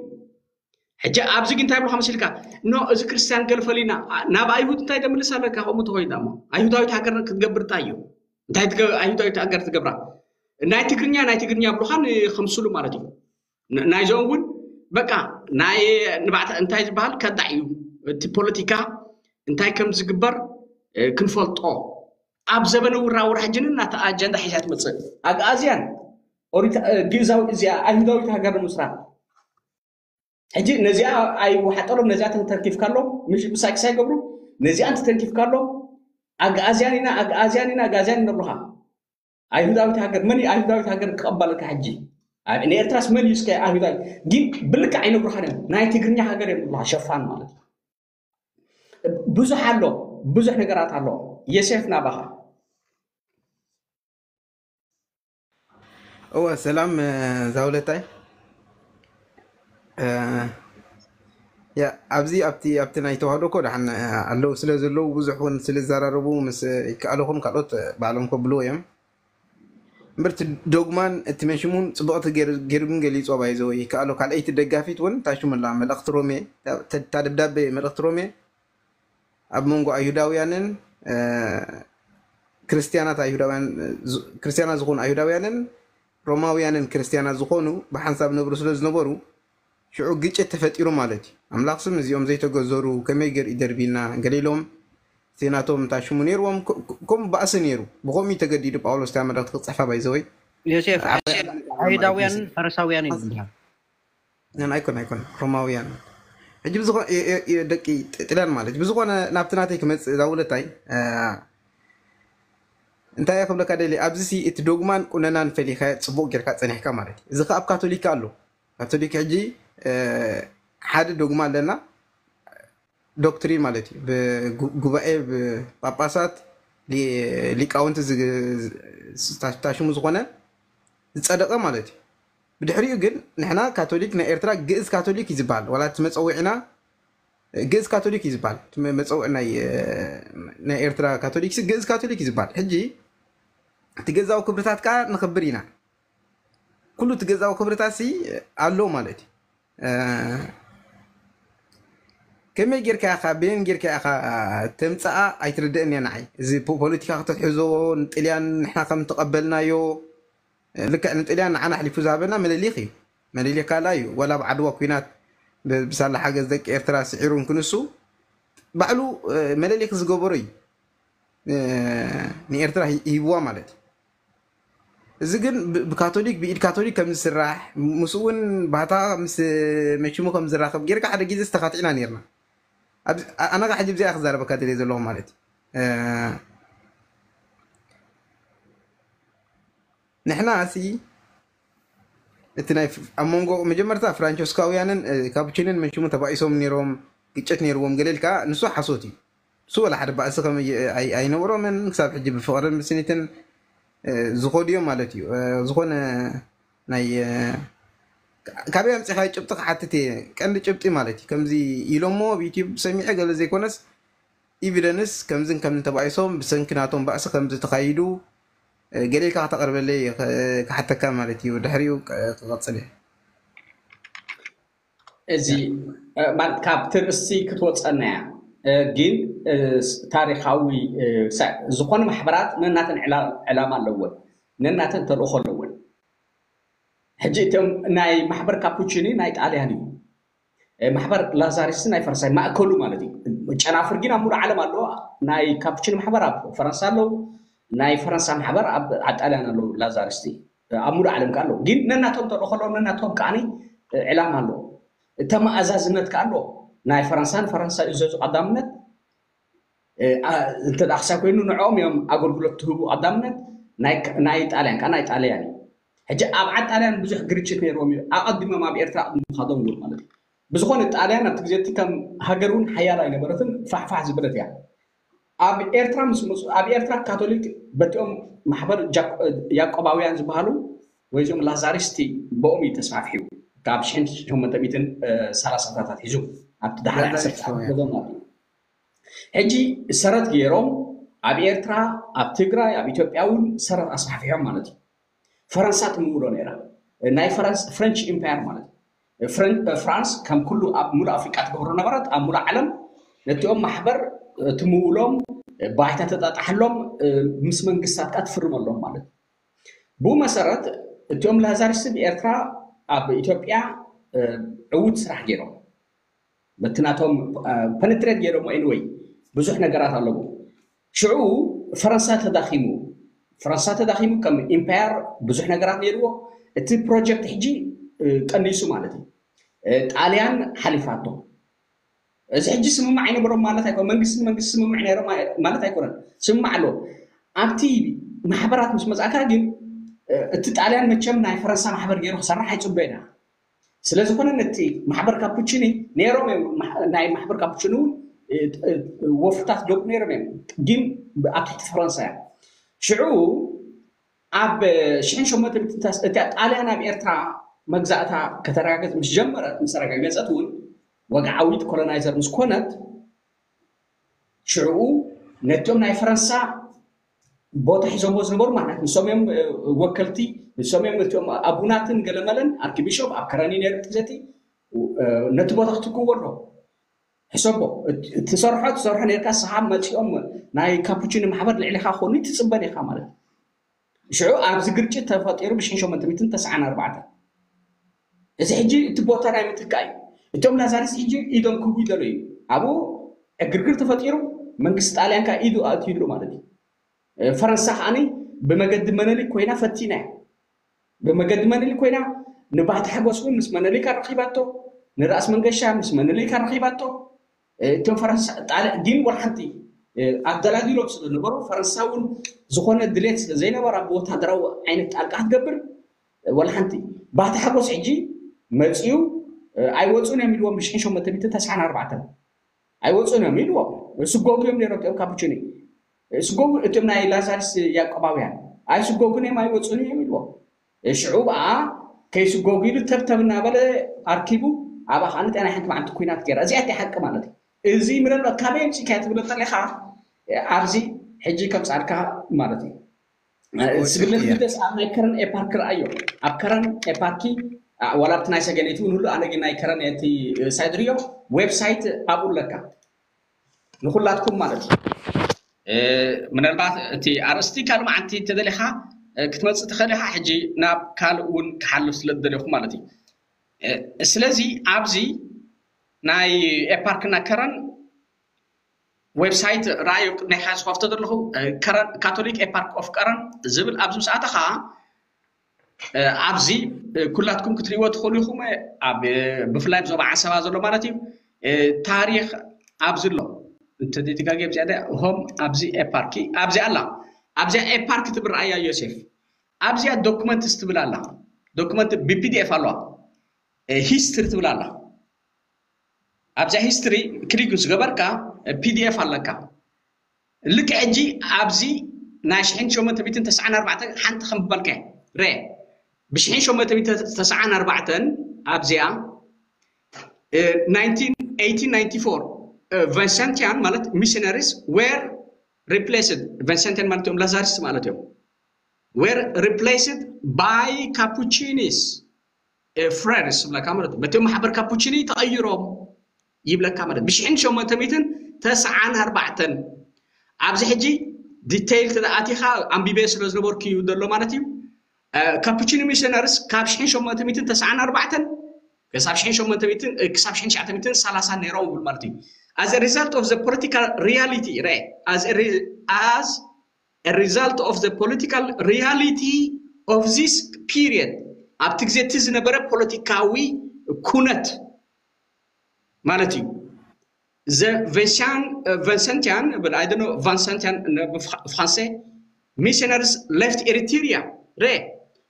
ሕጂ ኣብዚ ግን እንታይ ብልካ መሲልካ ኖ እዚ ክርስትያን ገለ ፈሊና ናብ ኣይሁድ እንታይ ደምልስ ኣለካ ከምኡ ተኮይዳ እሞ ኣይሁዳዊት ሃገር ክትገብር እንታይ እዩ እንታይ ትገ- ኣይሁዳዊት ሃገር ትገብራ ናይ ትግርኛ ናይ ትግርኛ ብልኻን ከምስሉ ማለት እዩ። ን- ናይዞም እውን በቃ ናይ ንባዕታ እንታይ ዝበሃል ከዳዕ እዩ። እቲ ፖለቲካ እንታይ ከም ዝግበር እ፣ ክንፈልጦ ኣብ ዘበነ ውራውራ ሕጂ ንናተ ኣጀንዳ ሒዛ ትመፅእ ኣግኣዝያን ኦሪት እ፣ ግእዛዊ እዚኣ ኣይሁዳዊት ሃገር ንምስራት ሕጂ ነዚኣ ኣይወሓጠሎም ነዚኣ ተንተርኪፍካሎም ምሽ ምሳይ ክሳይ ገብሩ ነዚኣ እንተተንኪፍካሎም ኣግኣዝያን ኢና ኣግኣዝያን ኢና ኣግኣዝያን ይነብሩኻ። ኣይሁዳዊት ሃገር መን እዩ ኣይሁዳዊት ሃገር ክቐበለካ ሕጂ? ኣብ- ንኤርትራስ መን እዩ እስከ ኣይሁዳዊ ግን ብልክዕ ኣይነግሩኻን እዮም። ናይ ትግርኛ ሃገር እዮም ዝብሉኻ ሸፋን ማለት እዩ። ብዙሕ ኣሎ ብዙሕ ነገራት ኣሎ። የሴፍ ናባኻ እወ ሰላም እ፣ ዛውለታይ እ፣ ያ ኣብዚ ኣብቲ ኣብቲ ናይ ተዋህዶ እኮ ደሓን እ፣ ኣለዉ ስለ ዘለዉ ብዙሕ እውን ስለ ዝዘራረቡ ምስ ይከኣለኹም ካልኦት እ፣ ባዕሎም ከብልዎ እዮም። እምበር እቲ ዶግማን እቲ መንሽሙን ፅቡቕቲ ገይሩ ገይሩ ግን ገሊፆ ባይዘወ ይከኣሎ ካልኣይቲ ደጋፊት እውን ታሽሙላ መልእኽቲ ሮሜ እታ እታ ደብዳቤ መልእኽቲ ሮሜ ኣብ መንጎ ኣይሁዳውያንን እ፣ ክርስትያናት ኣይሁዳውያን እ፣ ዝ- ክርስትያናት ዝኾኑ ኣይሁዳውያንን ሮማውያንን ክርስትያናት ዝኾኑ ብሓንሳብ ነብሩ ስለ ዝነበሩ ሽዑ ግጭት ተፈጢሩ ማለት እዩ። ኣምላኽ ስም እዚኦም ዘይተገዘሩ ከመይ ገር ይደርቢና ገለ ኢሎም እቲ ናቶም እንታይ ሽሙ ነይርዎም ከ- ከ- ከምኡ ባእሲ ነይሩ ብኸምኡ እዩ ተገዲዱ ጳውሎስ እታ መልእኽቲ ክፅሕፋ ባይዘወይ ዮሴፍ ዓባይ ኣይሁዳውያን ፈሪሳውያን እዩ ዝበሃል። ን ኣይኮን ኣይኮን ሮማውያን ሕጂ ብዝኾ የ- የ- የ- ደቂ ጥ- ጥልያን ማለት እዩ። ብዝኾነ ናብቲ ናተይ ክመፅእ እዛ ውለታይ እ፣ እንታይ እየ ክብለካ ደሊ ኣብዚ ሲ እቲ ዶግማን ቁነናን ፈሊኸ ፅቡቅ ጌርካ ፀኒሕካ ማለት እዩ። እዚ ከ ኣብ ካቶሊክ ኣሎ። ካቶሊክ ሕጂ እ፣ ሓደ ዶግማ ኣለና ዶክትሪን ማለት እዩ። ብጉባኤ ጳጳሳት ሊ- ሊቃውንቲ ዝግ- ዝታ- ታሽሙ ዝኾነ ዝፀደቐ ማለት እዩ። ብድሕሪኡ ግን ንሕና ካቶሊክ ናይ ኤርትራ ግእዝ ካቶሊክ እዩ ዝበሃል ዋላ እቲ መፀውዒና ግእዝ ካቶሊክ እዩ ዝበሃል እቲ መ- መፀውዒ ናይ እ፣ ናይ ኤርትራ ካቶሊክ ሲ ግእዝ ካቶሊክ እዩ ዝበሃል። ሕጂ እቲ ገዛዊ ክብርታት ከዓ ንኽብር ኢና ኩሉ እቲ ገዛዊ ክብርታት ሲ ኣሎ ማለት እዩ። እ፣ ከመይ ጌርካ ኢኻ በየን ጌርካ ኢኻ ተምፅኣ ኣይትርድእን እያ ንዓይ። እዚ ፖ- ፖለቲካ ክትሕዞ ንጥልያን ንሕና ከም ተቐበልናዮ እ፣ ልክዕ ንጥልያን ንዓና ኣሕሊፉ ዝሃበና መለሊኽ እዩ። መለሊኽ ካልኣ እዩ። ዋላ ኣብ ዓድዋ ኩናት ብ- ብሳላ ሓገዝ ደቂ ኤርትራ ስዒሩ እንክንሱ ባዕሉ እ፣ መለሊኽ ዝገበሮ እዩ እ፣ ንኤርትራ ሂ- ሂብዋ ማለት እዩ። እዚ ግን ብ- ብካቶሊክ ብኢድ ካቶሊክ ከም ዝስራሕ ምስ እውን ባህታ ምስ መሽሙ ከም ዝራኸብ ጌርካ ሓደ ግዜ ዝተኻትዕና ነርና። ኣብዚ- ኣ- ኣነ ካ ሕጂ ብዚኣ ክዛረበካ ደልየ ዘለኹ ማለት እዩ። እ፣ ንሕና ሲ እቲ ናይ ፍ- ኣብ መንጎ መጀመርታ ፍራንቸስካውያንን እ፣ ካፑቺንን መንሽሙ ተባኢሶም ነይሮም ግጭት ነይርዎም ገለ ኢልካ ንሱ ሓሶት እዩ። ንሱ ወላ ሓደ ባእሲ ከም ኣይ- ኣይነበሮምን ክሳብ ሕጂ ብፍቕርን ብስኒትን እ፣ ዝኸዱ እዮም ማለት እዩ። እ፣ ዝኾነ ናይ እ፣ ካበይ ኣምፂኻዮ ጭብጢ ክሓትት እየ ቀንዲ ጭብጢ ማለት እዩ። ከምዚ ኢሎሞ ኣብ ዩቲዩብ ሰሚዐ ገለ ዘይኮነስ ኢቪደንስ ከምዝን ከምዝን ተባኢሶም ብሰንኪ ናቶም ባእሲ ከምዚ ተኻይዱ እ፣ ገለ ኢልካ ከተቕርበለይ እ፣ ክሓተካ ማለት እዩ። ድሕሪኡ እ፣ ክቐፅል እየ። እዚ እ፣ ማለት ካብቲ ርእሲ ክትወፀና እያ እ፣ ግን እ፣ ስ- ታሪካዊ እ፣ ሳ- ዝኾነ ማሕበራት ነናተን ዕላ- ዕላማ ኣለወን ነናተን ተልእኾ ኣለወን። ሕጂ እቶም ናይ ማሕበር ካፑቺኒ ናይ ጣልያን እዩ። እ፣ ማሕበር ላዛሪስቲ ናይ ፈረንሳይ ማእከሉ ማለት እዩ። ጨናፍር ግን ኣብ ሙሉእ ዓለም ኣለዎ። ናይ ካፑቺኒ ማሕበር ኣብ ፈረንሳ ኣለዉ። ናይ ፈረንሳ ማሕበር ኣብ ኣብ ጣልያን ኣለዉ። ላዛሪስቲ እ፣ ኣብ ሙሉእ ዓለም ከዓ ኣለዉ። ግን ነናቶም ተልእኾ ኣለዎም፣ ነናቶም ከዓ እ፣ ዕላማ ኣለዎ። ተመኣዛዝነት ከዓ ኣለዎ። ናይ ፈረንሳ ንፈረንሳ ይእዘዙ ቀዳምነት። እንተ ክሳብ ኮይኑ ንዕኦም እዮም ኣገልግሎት ትህቡ ቀዳምነት። ናይ ጣልያን ከዓ ናይ ጣልያን እዩ። ሕጂ ኣብ ዓድ ጣልያን ብዙሕ ግርጭት ነይርዎም እዩ፣ ኣቐዲሞም ኣብ ኤርትራ ኣቐዲሙ ምኻዶም እውን ማለት እዩ። ብዝኾነ ጣልያን ኣብቲ ግዜ እቲ ከም ሃገር እውን ሓያል ኣይነበረትን፣ ፋሕፋሕ ዝበለት እያ። ኣብ ኤርትራ ምስ መፁ ኣብ ኤርትራ ካቶሊክ በቲኦም ማሕበር ያቆባውያን ዝበሃሉ ወይ እዚኦም ላዛሪስቲ ብኦም እዩ ተስፋፍሒቡ ካብ ሽሕን ሸሞንተ ሚእትን ሰላሳታት ኣትሒዙ ኣብቲ ዳሕሪ ዓሰርተ ዓመት ገዞም ማለት እዩ። ሕጂ ሰረት ገይሮም ኣብ ኤርትራ ኣብ ትግራይ ኣብ ኢትዮጵያ እውን ሰረት ኣስፋሕፊሖም ማለት እዩ። ፈረንሳ ትምውሎ ነይራ ናይ ፍረንች ኢምፓየር ማለት እዩ። ፍራንስ ከም ኩሉ ኣብ ሙሉእ ኣፍሪቃ ትገብሮ ነበረት ኣብ ሙሉእ ዓለም ነቲኦም ማሕበር ትምውሎም ባይታ ተጣጣሐሎም ምስ መንግስታት ካ ትፍርመሎም ማለት እዩ። ብኡ መሰረት እቲኦም ላዛሪስት ብኤርትራ ኣብ ኢትዮጵያ ዕዉት ስራሕ ገይሮም በቲ ናቶም ፐነትሬት ገይሮሞ ኤኒወይ ብዙሕ ነገራት ኣለዎ። ሽዑ ፈረንሳ ተዳኺሙ ፈረንሳ ተዳኺሙ ከም ኢምፓየር ብዙሕ ነገራት ነይርዎ። እቲ ፕሮጀክት ሕጂ ቀኒሱ ማለት እዩ። ጣልያን ሓሊፋቶ። እዚ ሕጂ ስምማዕ ኣይነበሮም ማለት ኣይኮነ መንግስቲ መንግስቲ ስምምዕ ነይሮም ማለት ኣይኮነን። ስምማዕ ኣለዎ። ኣብቲ ማሕበራት ምስ መፅኣካ ግን እቲ ጣልያን መቸም ናይ ፈረንሳ ማሕበር ገይሩ ክሰርሕ ኣይፅበ ኢና። ስለዝኾነ ነቲ ማሕበር ካፑቺኒ ነይሮም እዮም ናይ ማሕበር ካፑቺኒ እውን ወፍርታት ገብሩ ነይሮም እዮም። ግን ኣብ ትሕቲ ፈረንሳ እዮም። ሽዑ ኣብ ሽሕን ሸሞንተ ሚእትን እቲያ ጣልያን ኣብ ኤርትራ መግዛእታ ከተረጋገፅ ምስ ጀመረት ምስ ኣረጋገፀት እውን ወግዓዊት ኮሎናይዘር ምስ ኮነት ሽዑ ነቶም ናይ ፈረንሳ ቦታ ሒዞምዎ ዝነበሩ ማለት ንሶም እዮም ወከልቲ ንሶም እዮም እቲኦም ኣቡናትን ገለመለን ኣርኪቢሾፕ ኣብ ከረኒ ነይሩ ትዘቲ ነቲ ቦታ ክትክዎ ኣሎ ሕሰቦ ትሰርሖ ትሰርሖ ነርካ ስሓብ መፂኦም ናይ ካፑቺኒ ማሕበር ልዕሊካ ክኾኑ ትፅበን ኢኻ ማለት ሽዑ ኣብዚ ግርጭት ተፈጢሩ ብሽሕን ሸሞንተ ሚእትን ተስዓን ኣርባዕተን እዚ ሕጂ እቲ ቦታ ናይ ምትካእ እዩ። እቶም ላዛሪስ ሕጂ ኢዶም ክቡ ይደሎ እዩ። ኣብኡ ዕግርግር ተፈጢሩ መንግስቲ ጣልያን ካ ኢዱ ኣእትዩሉ ማለት እዩ። ፈረንሳ ከዓኒ ብመገዲ መነሊክ ኮይና ፈቲና እያ። ብመገዲ መነሊክ ኮይና ንባህቲ ሓጎስ እውን ምስ መነሊክ ኣረኺባቶ፣ ንራእሲ መንገሻ ምስ መነሊክ ኣረኺባቶ። እቶም ፈረንሳ ጣልያን ግን ወላ ሓንቲ ኣደላዲሎም ስለ ዝነበሩ ፈረንሳ እውን ዝኾነ ድሌት ስለ ዘይነበራ ብወታደራዊ ዓይነት ጣልቃ ክትገብር ወላ ሓንቲ ባቲ ሓጎስ ሕጂ መፅዩ ኣይወፁን እዮም ኢልዎም ብሽሕን ሸሞንተ ሚእትን ተስዓን ኣርባዕተን ኣይወፁን እዮም ኢልዎም ስጎጉ እዮም ነይሮም እቲኦም ካፑቺኒ ስጎጉ እቶም ናይ ላዛሪስ ያቆባውያን ኣይስጎጉን እዮም ኣይወፁን እዮም ኢልዎም ሽዑ በኣ ከይስጎጉ ኢሉ ተብተብ እናበለ ኣርኪቡ ኣብኣ ከዓ ንጤና ሓንቲ መዓልቲ ኩናት ገይራ እዚኣ እቲ ሓቂ ማለት እዩ እዚ ምናልባት ካበይ ኣምፂእካ ትብሎ እንተለካ ኣብዚ ሕጂ ከምፃልካ ማለት እዩ ስግደት ግደስ ኣብ ናይ ከረን ኤፓርክ ረኣዮ ኣብ ከረን ኤፓርኪ ዋላ ኣብቲ ናይ ሰገነይቲ እውን ሁሉ ኣነ ግን ናይ ከረን እቲ ሳይት ሪዮ ዌብሳይት ኣብኡ ኣለካ ንኩላትኩም ማለት እዩ ምናልባት እቲ ኣርእስቲ ካልእ መዓልቲ ተደሊኻ ክትመፅእ ትኽእል ኢኻ ሕጂ ናብ ካልእ እውን ክሓልፍ ስለ ዝደለኹ ማለት እዩ ስለዚ ኣብዚ ናይ ኤፓርክና ከረን ዌብሳይት ረኣዩ ናይ ሓዚ ከፍቶ ዘለኹ ካቶሊክ ኤፓርክ ኦፍ ቀረን ዝብል ኣብዚ ምስ ኣተኻ ኣብዚ ኩላትኩም ክትሪእዎ ትኽእሉ ኢኹም ብፍላይ ዞባ ዓሰባ ዘሎ ማለት እዩ ታሪክ ኣብዚ ኣሎ እንተደጋጊ ኣብዚኣ ሆም ኣብዚ ኤፓርኪ ኣብዚ ኣላ ኣብዚኣ ኤፓርክ ትብል ረኣያ ዮሴፍ ኣብዚኣ ዶክመንትስ ትብል ኣላ ዶክመንት ብፒዲኤፍ ኣለዋ ሂስትሪ ትብል ኣላ ኣብዛ ሂስትሪ ክሊክ ምስ ገበርካ ፒዲኤፍ ኣለካ ልክዕ ሕጂ ኣብዚ ናይ ሽሕን ሸሞንተ ሚእትን ተስዓን ኣርባዕተን ሓንቲ ከም ዝበልካ ረ ብሽሕን ሸሞንተ ሚእትን ተስዓን ኣርባዕተን ኣብዚኣ Vincentian ማለት missionaries were replaced Vincentian ማለት እዮም ላዛሪስት ማለት እዮም were replaced by Capuchinis friars ይብለካ ማለት በቲ ማሕበር ካፑቺኒ ተቐይሮም ይብለካ ማለት ብሽሕን ሸሞንተ ሚእትን ተስዓን ኣርባዕተን ኣብዚ ሕጂ ዲቴይል ተኣቲኻ ኣንቢበ ስለ ዝነበርኩ እዩ ዘሎ ማለት እዩ ካፑቺኒ ሚሽነርስ ካብ ሽሕን ሸሞንተ ሚእትን ተስዓን ኣርባዕተን ክሳብ ሽሕን ሸሞንተ ሚእትን ክሳብ ሽሕን ትሽዓተ ሚእትን ሰላሳን ነይሮም ይብል ማለት እዩ as a result of the political reality re as as a result of the political reality of this period ኣብቲ ግዜ እቲ ዝነበረ ፖለቲካዊ ኩነት ማለት እዩ The Vincentian, uh, Vincentian, but I don't know, Vincentian, uh, Fr- Francais, missionaries left Eritrea. ረ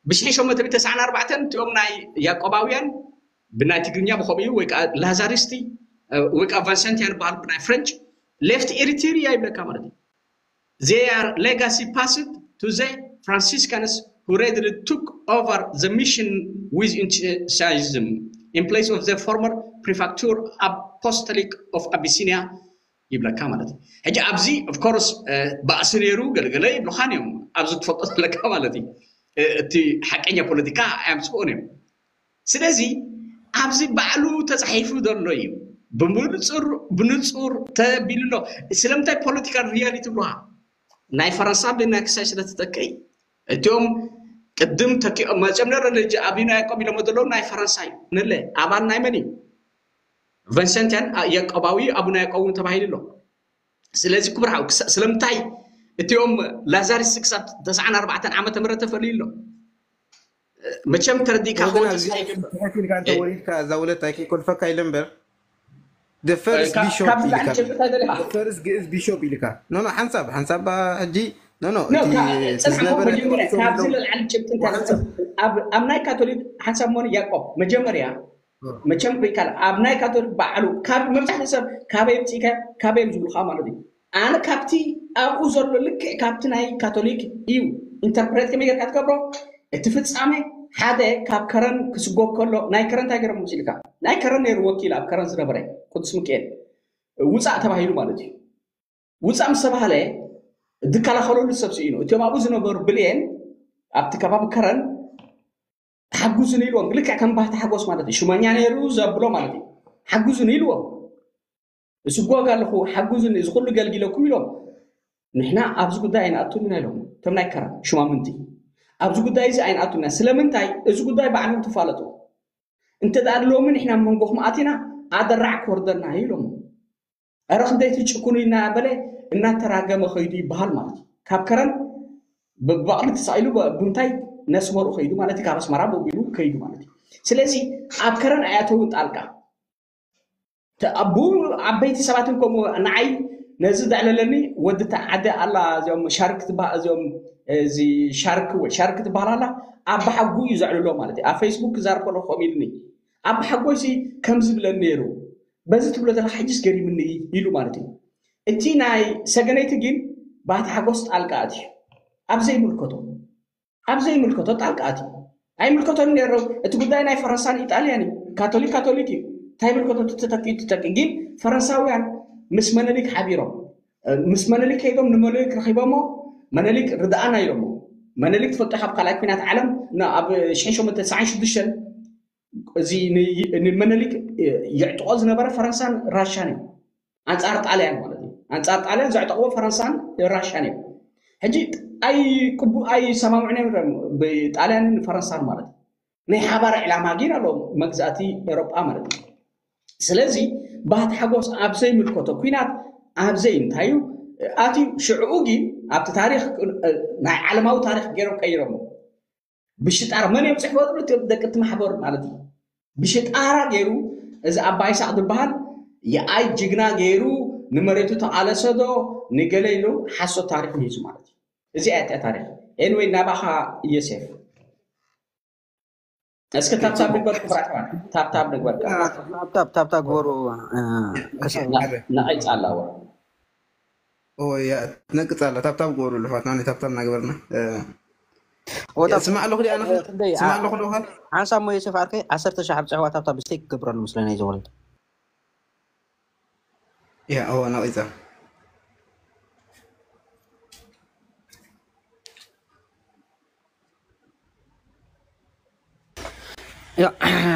ብሽሕን ሸሞንተ ሚእትን ተስዓን ኣርባዕተን እቲኦም ናይ ያዕቆባውያን ብናይ ትግርኛ ብኸምኡ እዩ፣ ወይ ከዓ ላዛሪስቲ፣ uh, ወይ ከዓ ቫንሰንቲያን በሃሉ ብናይ ፍሬንች፣ left Eritrea ይብለካ ማለት እዩ። Their legacy passed to the Franciscans, who readily took over the mission with enthusiasm in place of the former prefecture apostolic of Abyssinia ይብለካ ማለት እዩ። ሕጂ ኣብዚ of course ባእሲ ነይሩ ገለገለ ይብሉኻን እዮም። ኣብዚ ትፈልጦ ዘለካ ማለት እዩ። እቲ ሓቀኛ ፖለቲካ ኣየምፅኡን እዮም። ስለዚ ኣብዚ ባዕሉ ተፃሒፉ ዘሎ እዩ። ብንፁር ብንፁር ተቢሉ ኣሎ። ስለምንታይ ፖለቲካል ሪያሊቲ ብሉሃ ናይ ፈረንሳ ብናይ ክሳይ ስለ ተተክኢ እቲኦም ቅድም ተኪኦም መፅኦም ነረ ልጅ ኣቢና ያቆብ ኢሎም ዘለዉ ናይ ፈረንሳ እዩ። ንለ ኣባል ናይ መን እዩ? ቨንሰንቲያን ያቆባዊ ኣቡና ያቆብ እውን ተባሂሉ ኣሎ። ስለዚ ክብርሃው ስለምንታይ እቲኦም ላዛሪስ ክሳብ ተስዓን ኣርባዕተን ዓመተ ምህረት ተፈልዩ ኣሎ። መቸም ተረዲእካ ክወድስ ኣይደልኩ። ኢልካ እንተ ወሪድካ እዛ ውለት ኣይከይኮልፈካ ኢለ እምበር the first bishop ካብዚ ኢልካ ላዕሊ ጭብጥታ ደሊኻ the first ግእዝ ቢሾፕ ኢልካ ኖ ኖ ሓንሳብ ሓንሳብ ሕጂ ኖ ኖ ኖ እቲ ካብ- ጽናሕ ዝነበረ መጀመርያ ካብዚ ለልዓሊ ጭብጥታ ኣብ ኣብ ናይ ካቶሊክ ሓንሳብ መሆን ያቆብ መጀመርያ መቸም ሪካል ኣብ ናይ ካቶሊክ ባዕሉ ካብ መብዛሕትኡ ሰብ ካበይ ምፅኢከ ካበይ እዮም ዝብሉካ ማለት እዩ። ኣነ ካብቲ ኣብኡ ዘሎ ልክዕ ካብቲ ናይ ካቶሊክ እዩ ኢንተርፕሬት ከመይ ጌርካ ትገብሮ እቲ ፍጻሜ ሓደ ካብ ከረን ክስጎ ከሎ ናይ ከረን እንታይ ገይሮም መሲልካ ናይ ከረን ነይሩ ወኪል ኣብ ከረን ዝነበረ ቅዱስ ሚካኤል ውፃእ ተባሂሉ ማለት እዩ። ውፃእ ምስ ተባሃለ ዝከላኸለሉ ሰብ ስኢኑ እቲኦም ኣብኡ ዝነበሩ ብልየን ኣብቲ ከባቢ ከረን ሓጉዙን ኢልዎም ልክዕ ከም ባህቲ ሓጎስ ማለት እዩ ሽመኛ ነይሩ ዘብሎ ማለት እዩ። ሓጉዙን ኢልዎም እስጎግ ኣለኹ ሓጉዙን እዚ ኩሉ ገልጊለኩም ኢሎም ንሕና ኣብዚ ጉዳይ ኣይንኣቱን ኢና ኢሎም እቶም ናይ ከረን ሽማምንቲ ኣብዚ ጉዳይ እዚ ኣይንኣቱን ኢና ስለምንታይ እዚ ጉዳይ ባዕልኩም ትፋለጡ እንተ ደኣ ሎሚ ንሕና መንጎኹም ኣቲና ኣደራዕ ክወርደና እዩ ኢሎም ኧረ ክንደይ ትጭኩኑ እናበለ እናተራገመ ከይዱ ይበሃል ማለት እዩ። ካብ ከረን ብባቕሊ ተሳኢሉ ብምንታይ ነስመሩ ከይዱ ማለት እዩ። ካብ ኣስመራ ቦቢሉ ከይዱ ማለት እዩ። ስለዚ ኣብ ከረን ኣያተውን ጣልቃ ብኡ ዓበይቲ ሰባትን ከምኡ ንዓይ ነዚ ዘዕለለኒ ወዲ ዓዲ ኣላ እዚኦም ሻርክ ትበሃል እዚኦም እዚ ሻርክ ወይ ሻርክ ትበሃል ኣላ ኣብ ብሓጉ እዩ ዘዕልሎ ማለት እዩ። ኣብ ፌስቡክ ክዛርብ ከለኹ ከምኡ ኢሉኒ ኣብ ብሓጎይ ሲ ከም ዝብለኒ ነይሩ በዚ ትብሎ ዘለካ ሕጅስ ገሪምኒ ኢሉ ማለት እዩ። እቲ ናይ ሰገነይቲ ግን ባቲ ሓጎስ ጣልቃ ኣትዩ ኣብ ዘይምልከቶ ኣብ ዘይምልከቶ ጣልቃ ኣትዩ ኣይምልከቶን ነይሩ። እቲ ጉዳይ ናይ ፈረንሳን ኢጣልያን እዩ። ካቶሊክ ካቶሊክ እዩ እንታይ ምልከቶ ትተኪ ትተኪ ግን ፈረንሳውያን ምስ መነሊክ ሓቢሮም ምስ መነሊክ ከይዶም ንመነሊክ ረኪቦሞ መነሊክ ርድኣና ኢሎሞ መነሊክ ትፈልጦ ካብ ካልኣይ ኩናት ዓለም ኣብ ሽሕን ሸሞንተ ተስዓን ሽዱሽተን እዚ ንመነሊክ የዕጥቆ ዝነበረ ፈረንሳን ራሻን እዩ። ኣንፃር ጣልያን ማለት እዩ። ኣንፃር ጣልያን ዘዕጠቅዎ ፈረንሳን ራሻን እዩ። ሕጂ ኣይቅቡ ኣይሰማምዑን እዮም ብጣልያንን ፈረንሳን ማለት እዩ። ናይ ሓባር ዕላማ ግን ኣለዎም መግዛእቲ ኤሮጳ ማለት እዩ። ስለዚ ባህቲ ሓጎስ ኣብ ዘይምልከቶ ኩናት ኣብ ዘይ እንታይ እዩ ኣትዩ ሽዕኡ ግን ኣብቲ ታሪክ ናይ ዓለማዊ ታሪክ ገይሮም ቀይሮሞ ብሽጣራ መን እዮም ፅሕፈሉ እቲኦም ደቂ እቲ ማሕበር ማለት እዩ። ብሽጣራ ገይሩ እዚ ኣባይ ሳቅ ዝበሃል የኣይ ጅግና ገይሩ ንመሬቱ ተቃለሰ ዶ ንገለ ኢሉ ሓሶት ታሪክ ንሂዙ ማለት እዩ። እዚ ኣያ ታሪክ ኤንወይ ናባኻ ዮሴፍ እስኪ ታብታብ ንግበር ክብራት ኣሕዋት ታብታብ ንግበር ታብታብ ታብታብ ግበሩ። ነቂፃ ኣለዎ ትነቅፅ ኣላ ታብታብ ግበሩ ልሕዋትና ታብታብ እናገበርና ስማዕ ኣለኹ ዲኣ ስማዕ ኣለኹ ዶ ሓንሳብ ሞ ዮሴፍ ዓርከይ ዓሰርተ ሺሕ ኣብ ፅሕዋ ታብታብ ብስተይ ክገብረሉ ምስለና እዩ ዝወለድ ያ እዋ ነቂፃ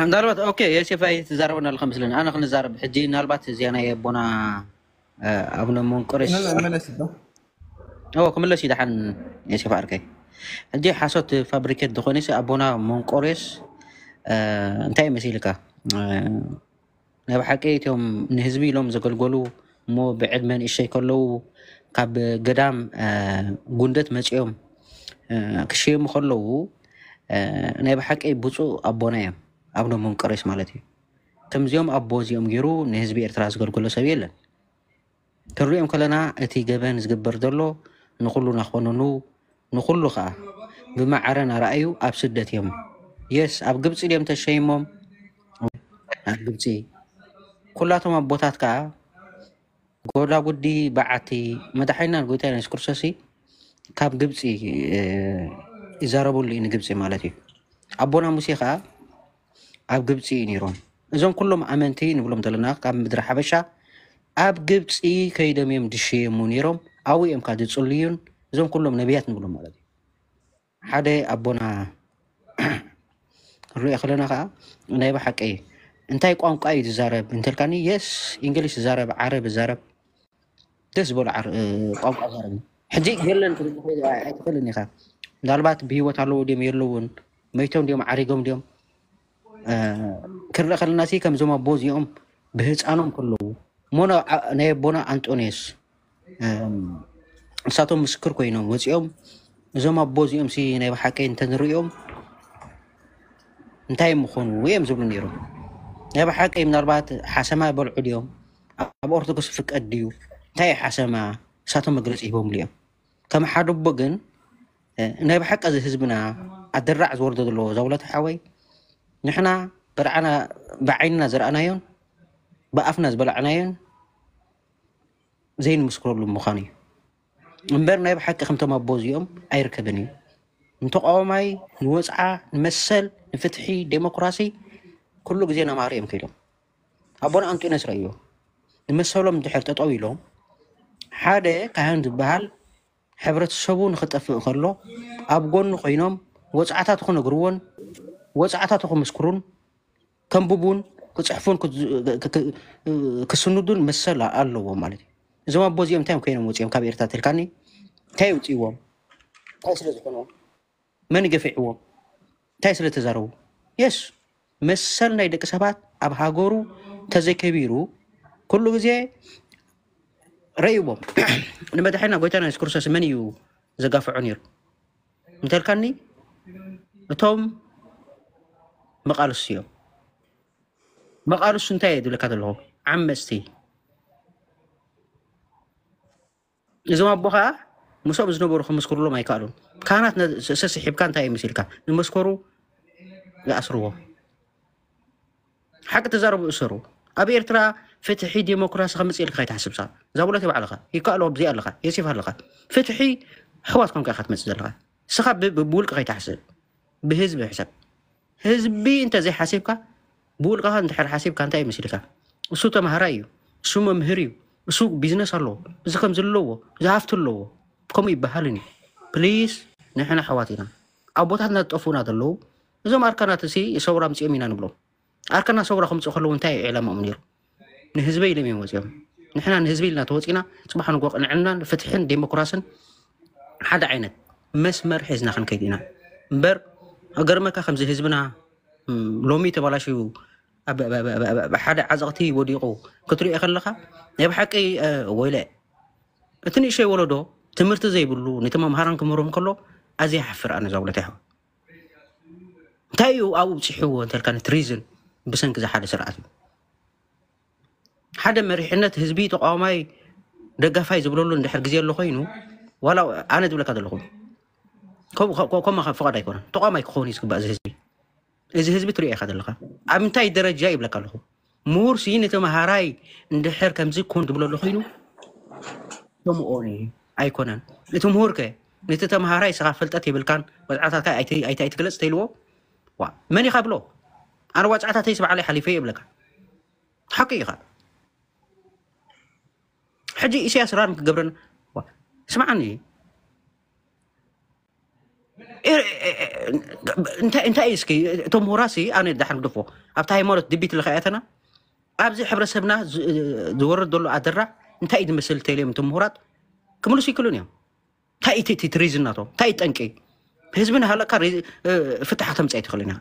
ምናልባት ኦኬ የሴፋይ ትዛረበና ኣለካ መስለኒ ኣነ ክንዛረብ ሕጂ ምናልባት እዚኣ ናይ ኣቦና ኣቡነ መንቆሬስ ክምለስ እዩ ደሓን የሴፋ ኣርከይ ሕጂ ሓሶት ፋብሪኬት ዝኾነ ኣቦና መንቆሬስ እንታይ መሲልካ ናይ ብሓቂ እቲኦም ንህዝቢ ኢሎም ዘገልገሉ እሞ ብዕድመ ንእሽተይ ከለዉ ካብ ገዳም ጉንደት መፂኦም ክሽየሙ ከለዉ ናይ ብሓቂ ብፁእ ኣቦና እዮም ኣቡነ መንቆሬስ ማለት እዩ። ከምዚኦም ኣቦ እዚኦም ገይሩ ንህዝቢ ኤርትራ ዘገልገሎ ሰብ የለን። ክንሪኦም ከለና እቲ ገበን ዝግበር ዘሎ ንኹሉ ናኾነኑ ንኹሉ ከዓ ብማዕረ ናረኣዩ ኣብ ስደት እዮም። የስ ኣብ ግብፂ ድዮም ተሸይሞም? ኣብ ግብፂ ኩላቶም ኣቦታት ከዓ ጎዳጉዲ በዓቲ መድሓኒና ጎይታ የሱስ ክርስቶስ ካብ ግብፂ ይዛረበሉ እዩ። ንግብፂ ማለት እዩ። ኣቦና ሙሴ ከዓ ኣብ ግብፂ እዩ ነይሮም። እዞም ኩሎም ኣመንቲ ንብሎም ዘለና ካብ ምድሪ ሓበሻ ኣብ ግብፂ ከይዶም እዮም ድሽየሙ ነይሮም። ኣብኡ እዮም ካብ ዝፅልዩን እዞም ኩሎም ነቢያት ንብሎም ማለት እዩ። ሓደ ኣቦና ንሪኦ ከለና ከዓ ናይ ብሓቂ እንታይ ቋንቋ እዩ ዝዛረብ እንተልካኒ፣ የስ እንግሊሽ ዝዛረብ፣ ዓረብ ዝዛረብ፣ ደስ ዝበሉ ዓር- እ፣ ቋንቋ ዛረብ። ሕጂ የለን ክትብል ትኽእል ኣይትኽእልን ኢኻ። ምናልባት ብህይወት ኣለዉ ድዮም የለውን፣ መይቶም ድዮም ዓሪጎም ድዮም እ፣ ክንርኢ ከለና ሲ ከምዞም ኣቦ እዚኦም ብህፃኖም ከለዉ እሞ ና- ዓ- ናይ ኣቦና ኣንጦንዮስ እም፣ ንሳቶም ምስክር ኮይኖም ወፂኦም እዞም ኣቦ እዚኦም ሲ ናይ ብሓቂ እንተንሪኦም እንታይ ምኾኑ እዮም ዝብሉ ነይሮም። ናይ ብሓቂ ምናልባት ሓሰማ ይበልዑ ድዮም? ኣብ ኦርቶዶክስ ፍቀድ ድዩ? እንታይ እዩ ሓሰማ? ንሳቶም መግለፂ ሂቦምሉ እዮም። ከም ሓደ ኣቦ ግን እ፣ ናይ ብሓቂ እዚ ህዝብና ኣደራዕ ዝወርዶ ዘሎ ዛውለት ሓወይ ንሕና ብርዓና ብዓይንና ዝረኣናዮን ብኣፍና ዝበላዕናዮን ዘይንምስክረሉ ምዃኑ እዩ እምበር ናይ ብሓቂ ከምቶም ኣቦ እዚኦም ኣይርከብን እዩ። ንተቃዋማይ ንወፅዓ ንመሰል ንፍትሒ ዴሞክራሲ ኩሉ ግዜ ናማሃሩ እዮም ከይዶም ኣቦና ኣንጢኖስ ረእዮ ንመሰሎም ድሕር ጠጠው ኢሎም ሓደ ካህን ዝበሃል ሕብረተሰቡ ንክጠፍእ ከሎ ኣብ ጎኑ ኮይኖም ወፅዓታቱ ክነግርዎን ወፅዓታቱ ክምስክሩን ከንብቡን ክፅሕፉን ክስንዱን መሰል ኣለዎም ማለት እዩ። እዞም ኣቦ እዚኦም እንታይ ኮይኖም ወፂኦም ካብ ኤርትራ ተልካኒ እንታይ ውፅእዎም እንታይ ስለዝኮኑ መን ገፊዕዎም እንታይ ስለተዛረቡ የስ መሰል ናይ ደቂ ሰባት ኣብ ሃገሩ ተዘይከቢሩ ኩሉ ግዜ ረእይዎም ንመድሓና ጎይታና የሱስ ክርስቶስ መን እዩ ዘጋፍዖ ነይሩ እንተልካኒ እቶም መቃልሱ እዮም መቃልሱ እንታይ እየ ዝብለካ ዘለኹ ዓመፅቲ እዞም ኣቦ ከዓ ምስኦም ዝነበሩ ክምስክሩሎም ኣይከኣሉን። ካህናት ሰስሒብካ እንታይ እዩ መሲልካ ዝመስከሩ ይኣስርዎ። ሓቂ ተዛረቡ እሰሩ። ኣብ ኤርትራ ፍትሒ ዴሞክራሲ ከምፅእ ኢልካ ከይትሓስብ ሳ ዛቡለት ባዕልኻ ይከኣሎ ኣብዚ ኣለኻ የሲፍ ኣለኻ ፍትሒ ኣሕዋት ኮንካ ኢኻ ትመፅእ ዘለኻ ስኻ ብውልቂ ከይትሓስብ ብህዝቢ ሕሰብ ህዝቢ እንተዘይሓሲብካ ብውልቅኻ እንድሕር ሓሲብካ እንታይ ይመስልካ እሱ ተምሃራይ እዩ እሱ መምህር እዩ እሱ ቢዝነስ ኣለዎ እዚ ከም ዘለዎ እዚ ሃፍቲ ኣለዎ ከምኡ ይበሃልን እዩ ፕሊስ ንሕና ኣሕዋት ኢና ኣቦታትና ዝጠፉና ዘለዉ እዞም ኣርካናት ሲ ሰውራ ምፅኦም ኢና ንብሎም ኣርካና ሰውራ ከምፅኡ ከለዉ እንታይ እዩ ዕላማኦም ነይሩ ንህዝበይ ኢሎም እዮም ወፂኦም ንሕና ንህዝቢ ኢልና ተወፂና ፅባሕ ንጎ ቅንዕናን ፍትሕን ዴሞክራስን ሓደ ዓይነት መስመር ሒዝና ክንከይድ ኢና እምበር ገርመካ ከምዚ ህዝብና ሎሚ ተባላሽዩ ሓደ ዓዘቕቲ ወዲቑ ክትሪኦ ከለካ ናይ ብሓቂ ወይለ እቲ ንእሸይ ወለዶ ትምህርቲ ዘይብሉ ነቲ መምሃራን ክምህሮም ከሎ ኣዝየ ሓፍር ኣነ ዛውለት ይሓው እንታይ እዩ ኣብኡ ብፅሕዎ እንተልካ ትሪዝን ብሰንኪ ዝሓደ ስርዓት እዩ ሓደ መሪሕነት ህዝቢ ተቃዋማይ ደጋፋይ ዝብለሉ እንድሕር ግዜ ኣሎ ኮይኑ ዋላ ኣነ ዝብለካ ዘለኹ ከምኡ ፍቓድ ኣይኮነን ተቃዋማይ ክኸውን እዩ ዝግባእ እዚ ህዝቢ እዚ ህዝቢ ትሪኦ ኢኻ ዘለኻ ኣብ እንታይ ደረጃ ይብለካ ኣለኹ ምሁር ስይ ንተምሃራይ እንድሕር ከምዚ ኩን ዝብለሉ ኮይኑ ከምኡ ኣይኮነን እቲ ምሁር ከ ነቲ ተምሃራይ ስኻ ፍልጠት የብልካን ወፅዓታትካ ኣይትግለፅ ተይልዎ መን ኢኻ ብሎ ኣነ ዋፅዓታተይ ስብዓለይ ሓሊፈ ይብለካ ሓቂ ኢኻ ሕጂ ኢሳያስ ራን ክገብረን ስምዓኒ እንታይ እስኪ እቶም ምሁራሲ ኣነ ዳሕር ግደፎ ኣብቲ ሃይማኖት ድቢት ለኸያተና ኣብዚ ሕብረተሰብና ዝወርድ ዘሎ ኣደራ እንታይ እዩ ዝመስል ተይልዮም እቶም ምሁራት ክምልሱ ይክእሉን እዮም እንታይ እቲ ትሪዝን ናቶም እንታይ ጠንቂ ህዝቢ ናሃለካ ፍትሓ ተምፅእ ኣይትኽእልን ኢኻ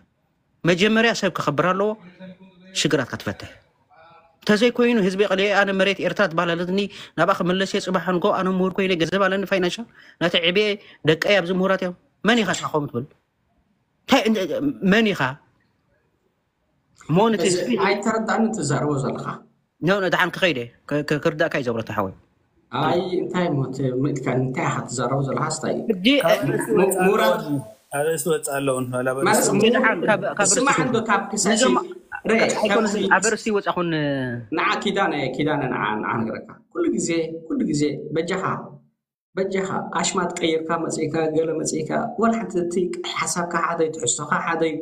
መጀመርያ ሰብ ክኸብር ኣለዎ ሽግራትካ ትፈትሕ እንተዘይኮይኑ ህዝቢ ቀሊአ ኣነ መሬት ኤርትራ ትባላለትኒ ናብኣ ክምለስ እየ ፅባሕ ንጎ ኣነ ምሁር ኮይነ ገንዘብ ኣለኒ ፋይናንሻል ናተ ዕብየ ደቀይ ኣብዚ ምሁራት እዮም መን ኢኻ ስኻ ከምኡ ትብል መን ኢኻ ሞን እቲ ህዝቢ ኣይተረዳእኒ ትዛረቦ ዘለኻ ደሓን ክኸይደ ክርዳእካ እዩ ዘብረታ ሓወይ ኣይ እንታይ ሞት ምእልካ እንታይ ኢኻ ትዛረቡ ዘለኻ ስታይ እዩ? ሕጂ ካብ ርእሲ ሙ- ወፃ ሙራት ኣለውን። ካብ ርእሲ ወፃ ኣለውን። ማለት ሕጂ ንዓን ካብ ካብ ርሲ ስማዕ እንዶ ካብ ክሳሲ ነዞም ረ ኣይኮነስ ከምዚ ኣብ ርሲ ወፃኹን ንዓ ኪዳነ ኪዳነ ንዓ ንዓ ነገረካ ኩሉ ግዜ ኩሉ ግዜ በጃኻ በጃኻ ኣሽማት ቀይርካ መፅእካ ገለ መፅእካ ወላ ሓንቲ እቲ ሓሳብካ ሓደይ ትሕዝቶካ ሓደይ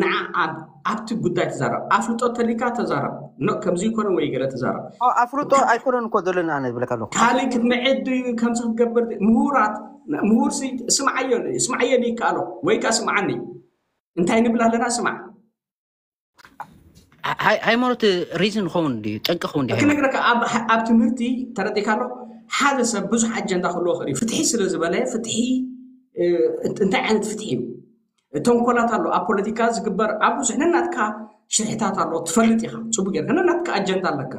ንዓ ኣብ- ኣብቲ ጉዳይ ተዛረብ ኣፍልጦ ተሊካ ተዛረብ ኖ ከምዚ ይኮነ ወይ ገለ ተዛረብ ኦ፣ ኣፍልጦ ኣይኮነን እኮ ዘለኒ ኣነ ዝብለካ ኣለኹ። ካልእ ክትምዕድ ከምዚ ክትገብር ምሁራት ምሁር ሲ- ስምዓዮ ስምዓዮ ይከኣሎ ወይ ከዓ ስምዓኒ እንታይ ንብል ኣለና ስማዕ ሃይ- ሃይማኖት ሪዝን ኸውን ድዩ ጠንቂ ኸውን ድዩ ሃይማኖት ክነግረካ ኣብ ኣብ ትምህርቲ ተረዲካ ኣሎ ሓደ ሰብ ብዙሕ ኣጀንዳ ክህልዎ ክእል እዩ ፍትሒ ስለ ዝበለ ፍትሒ እ፣ እንታይ ዓይነት ፍትሒ እዩ ተንኮላት ኣሎ ኣብ ፖለቲካ ዝግበር ኣብ ብዙሕ ነናትካ ሽርሕታት ኣሎ ትፈልጥ ኢኻ ፅቡቅ ጌርካ ነናትካ ኣጀንዳ ኣለካ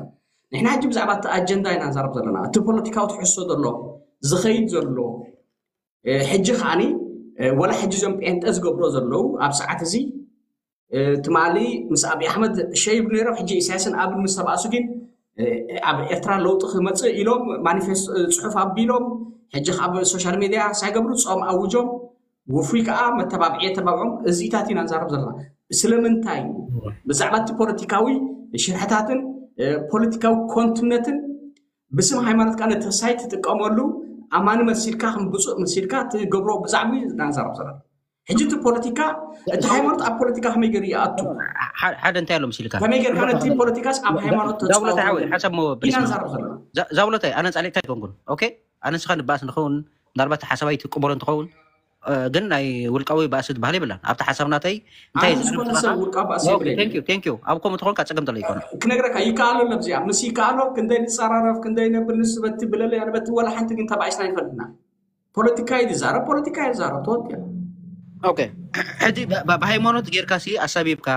ንሕና ሕጂ ብዛዕባ እቲ ኣጀንዳ ኢና ንዛረብ ዘለና እቲ ፖለቲካዊ ትሕዝቶ ዘሎ ዝኸይድ ዘሎ እ፣ ሕጂ ከዓኒ እ፣ ወላ ሕጂ እዞም ጴንጠ ዝገብሮ ዘለዉ ኣብ ሰዓት እዚ እ፣ ትማሊ ምስ ኣብይ ኣሕመድ ሸይብ ነይሮም ሕጂ ኢሳያስን ኣብን ምስ ተባእሱ ግን እ፣ ኣብ ኤርትራ ለውጢ ክመፅእ ኢሎም ማኒፌስቶ እ፣ ፅሑፍ ኣቢሎም ሕጂ ካብ ሶሻል ሚድያ ሳይገብሩ ፆም ኣውጆም ውፉይ ከዓ መተባብዒ የተባብዖም እዚታት ኢና ንዛረብ ዘለና ስለምንታይ ብዛዕባ እቲ ፖለቲካዊ ሽርሕታትን እ፣ ፖለቲካዊ ኮንትነትን ብስም ሃይማኖት ከዓ ነቲ ሳይት ትጥቀመሉ ኣማኒ መሲልካ ከም ብፁእ መሲልካ ትገብሮ ብዛዕባ እዩ ናንዛረብ ዘለና ሕጂ እቲ ፖለቲካ እቲ ሃይማኖት ኣብ ፖለቲካ ከመይ ገይሩ ይኣቱ ሓደ እንታይ ኣሎ መሲልካ ከመይ ገይርካ ነቲ ፖለቲካስ ኣብ ሃይማኖት ዛብሎታይ ሓወይ ተፃወቱ ሓሳብ ሞ ኢና ፕሊስ ንዛረብ ዘለና ዛብሎታይ ኣነ ፃሊእካ ኣይኮንኩን ኦኬ ኣነ ንስኻ ንባእስ ንኸውን ምናልባት ሓሳብ ኣይትቅበሎ እንትኸውን እ፣ ግን ናይ ውልቃዊ ባእሲ ዝበሃል የብላን ኣብቲ ሓሳብ ናተይ እንታይ ኣነ ዝኾነ ሰብ ውልቃዊ ባእሲ የብለይ ቴንክ ዩ ኣብ ከምኡ ትኾንካ ፀገም ዘሎ ይኮነ ክነግረካ ይከኣሎ ለብዚኣ ምስ ይከኣሎ ክንደይ ንፀራረፍ ክንደይ ነብል ንስበቲ ብለለ ያነበቲ ወላ ሓንቲ ግን ተባኢስና ይፈልጥና ፖለቲካ ይዛረብ ፖለቲካ ይዛረብ ተወዲያ ኦኬ ሕጂ ብ- ብ- ብሃይማኖት ጌርካ ሲ ኣሳቢብካ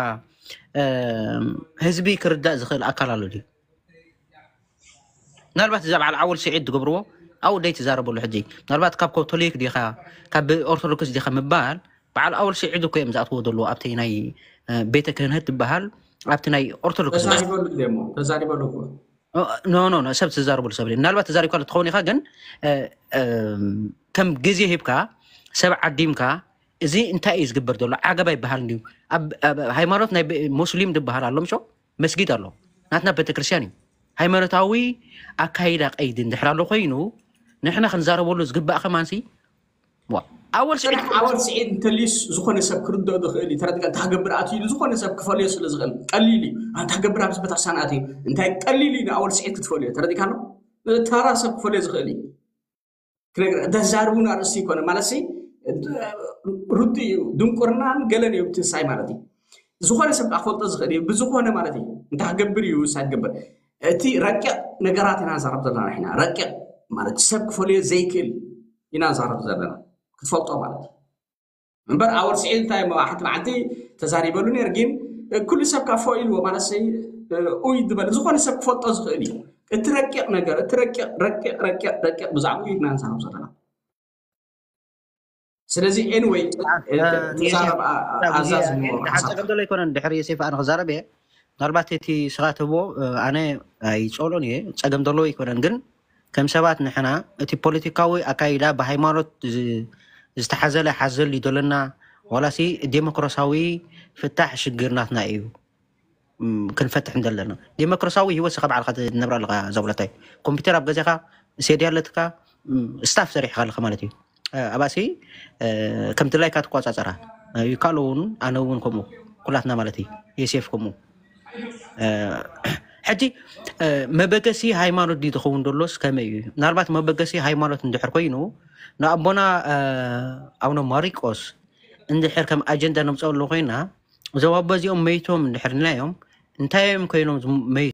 እም፣ ህዝቢ ክርዳእ ዝኽእል ኣካል ኣሎ ድዩ ምናልባት እዛ በዓል ዓወል ስዒድ ትገብርዎ ኣብኡ ደይ ትዛረበሉ ሕጂ ምናልባት ካብ ካቶሊክ ዲኻ ካብ ኦርቶዶክስ ዲኻ ምባል በዓል ኣወል ስዒድ እኮ እዮም ዝኣትዎ ዘለዎ ኣብቲ ናይ እ፣ ቤተ ክህነት ትበሃል ኣብቲ ናይ ኦርቶዶክስ ዝበሃል ተዛሪበሉ እሞ ተዛሪበሉ እኮ ኖ ኖ ኖ ሰብ ትዛረበሉ ሰብ የለን። ምናልባት ተዛሪብካ ትኸውን ኢኻ ግን እ፣ እም፣ ከም ግዜ ሂብካ ሰብ ዓዲምካ እዚ እንታይ እዩ ዝግበር ዘሎ ዓገብ ኣይበሃልን ድዩ ኣብ ኣብ ሃይማኖት ናይ ብ- ሙስሊም ዝበሃል ኣሎ ምሾ መስጊድ ኣሎ ናትና ቤተክርስትያን እዩ ሃይማኖታዊ ኣካይዳ ቀይዲ እንድሕር ኣሎ ኮይኑ ንሕና ክንዛረበሉ ዝግባእ ከማንሲ ዋ፣ ኣወል ስዒድ ስራሕ ኣወል ስዒድ እንተልዩስ ዝኾነ ሰብ ክርድኦ ዝኽእል እዩ ተረዲካ እንታይ ክገብር ኣትዩ ኢሉ ዝኾነ ሰብ ክፈልዮ ስለ ዝኽእል ቀሊል እዩ እንታይ ክገብር ኣብዚ ቤተክርስትያን ኣትዩ እንታይ ቀሊል እዩ ንኣወል ስዒድ ክትፈልዮ ተረዲካ ኣሎ ተራ ሰብ ክፈልዮ ዝኽእል እዩ ክነግር ተዛርቡን ኣርእስቲ ይኮነ ማለት ሲ ርዱ እዩ ድንቁርናን ገለን እዩ ትንሳይ ማለት እዩ ዝኾነ ሰብ ክፈልጦ ዝኽእል እዩ ብዝኾነ ማለት እዩ እንታይ ክገብር እዩ ሳይ ትገብር እቲ ረቂቕ ነገራት ኢና ንዛረብ ዘለና ኢና ረቂቕ ማለት ሰብ ክፈልዮ ዘይክእል ኢና ንዛረብ ዘለና ክትፈልጦ ማለት እዩ እምበር ኣወል ስዒድ እንታይ እሞ ሓንቲ መዓልቲ ተዛሪበሉ ነር ግን ኩሉ ሰብ ካብ ፎ ኢልዎ ማለት ሰይ ኡይ ዝበለ ዝኾነ ሰብ ክፈልጦ ዝኽእል እዩ እቲ ረቂቕ ነገር እቲ ረቂቕ ረቂቕ ረቂቕ ረቂቕ ብዛዕባኡ ኢና ንዛረብ ዘለና ስለዚ ኤንወይ ተዛረብ ኣዛዝሞ ሓፀገም ዘሎ ኣይኮነን ድሕሪ ዮሴፍ ኣነ ክዛረብ እየ ምናልባት እቲ ስኻ ትህቦ ኣነ ኣይፀሎን እየ ፀገም ዘለዎ ኣይኮነን ግን ከም ሰባት ንሕና እቲ ፖለቲካዊ ኣካይዳ ብሃይማኖት ዝተሓዘለ ሓዘል እዩ ዘለና ዋላሲ ዴሞክራሲያዊ ፍታሕ ሽግር ናትና እዩ ክንፈትሕ እንደለና ዴሞክራሲያዊ ህይወት ስኻ ባዕልካ ትነብር ኣለካ ዘብለታይ ኮምፒተር ኣብ ገዛኻ ሴዲ ኣለትካ ስታፍ ሰሪሕካ ኣለካ ማለት እዩ ኣባሲ ከም ድላይካ ትቆፃፀራ ይካሎ እውን ኣነ እውን ከምኡ ኩላትና ማለት እዩ የሴፍ ከምኡ ሕጂ መበገሲ ሃይማኖት ድዩ ዝኸውን ዘሎስ ከመይ እዩ ምናልባት መበገሲ ሃይማኖት እንድሕር ኮይኑ ንኣቦና ኣቡነ ማሪቆስ እንድሕር ከም ኣጀንዳ ነምፀሉ ኮይና እዞም ኣቦ እዚኦም መይቶም እንድሕር ኢልናዮም እንታይ እዮም ኮይኖም ዝመይቱ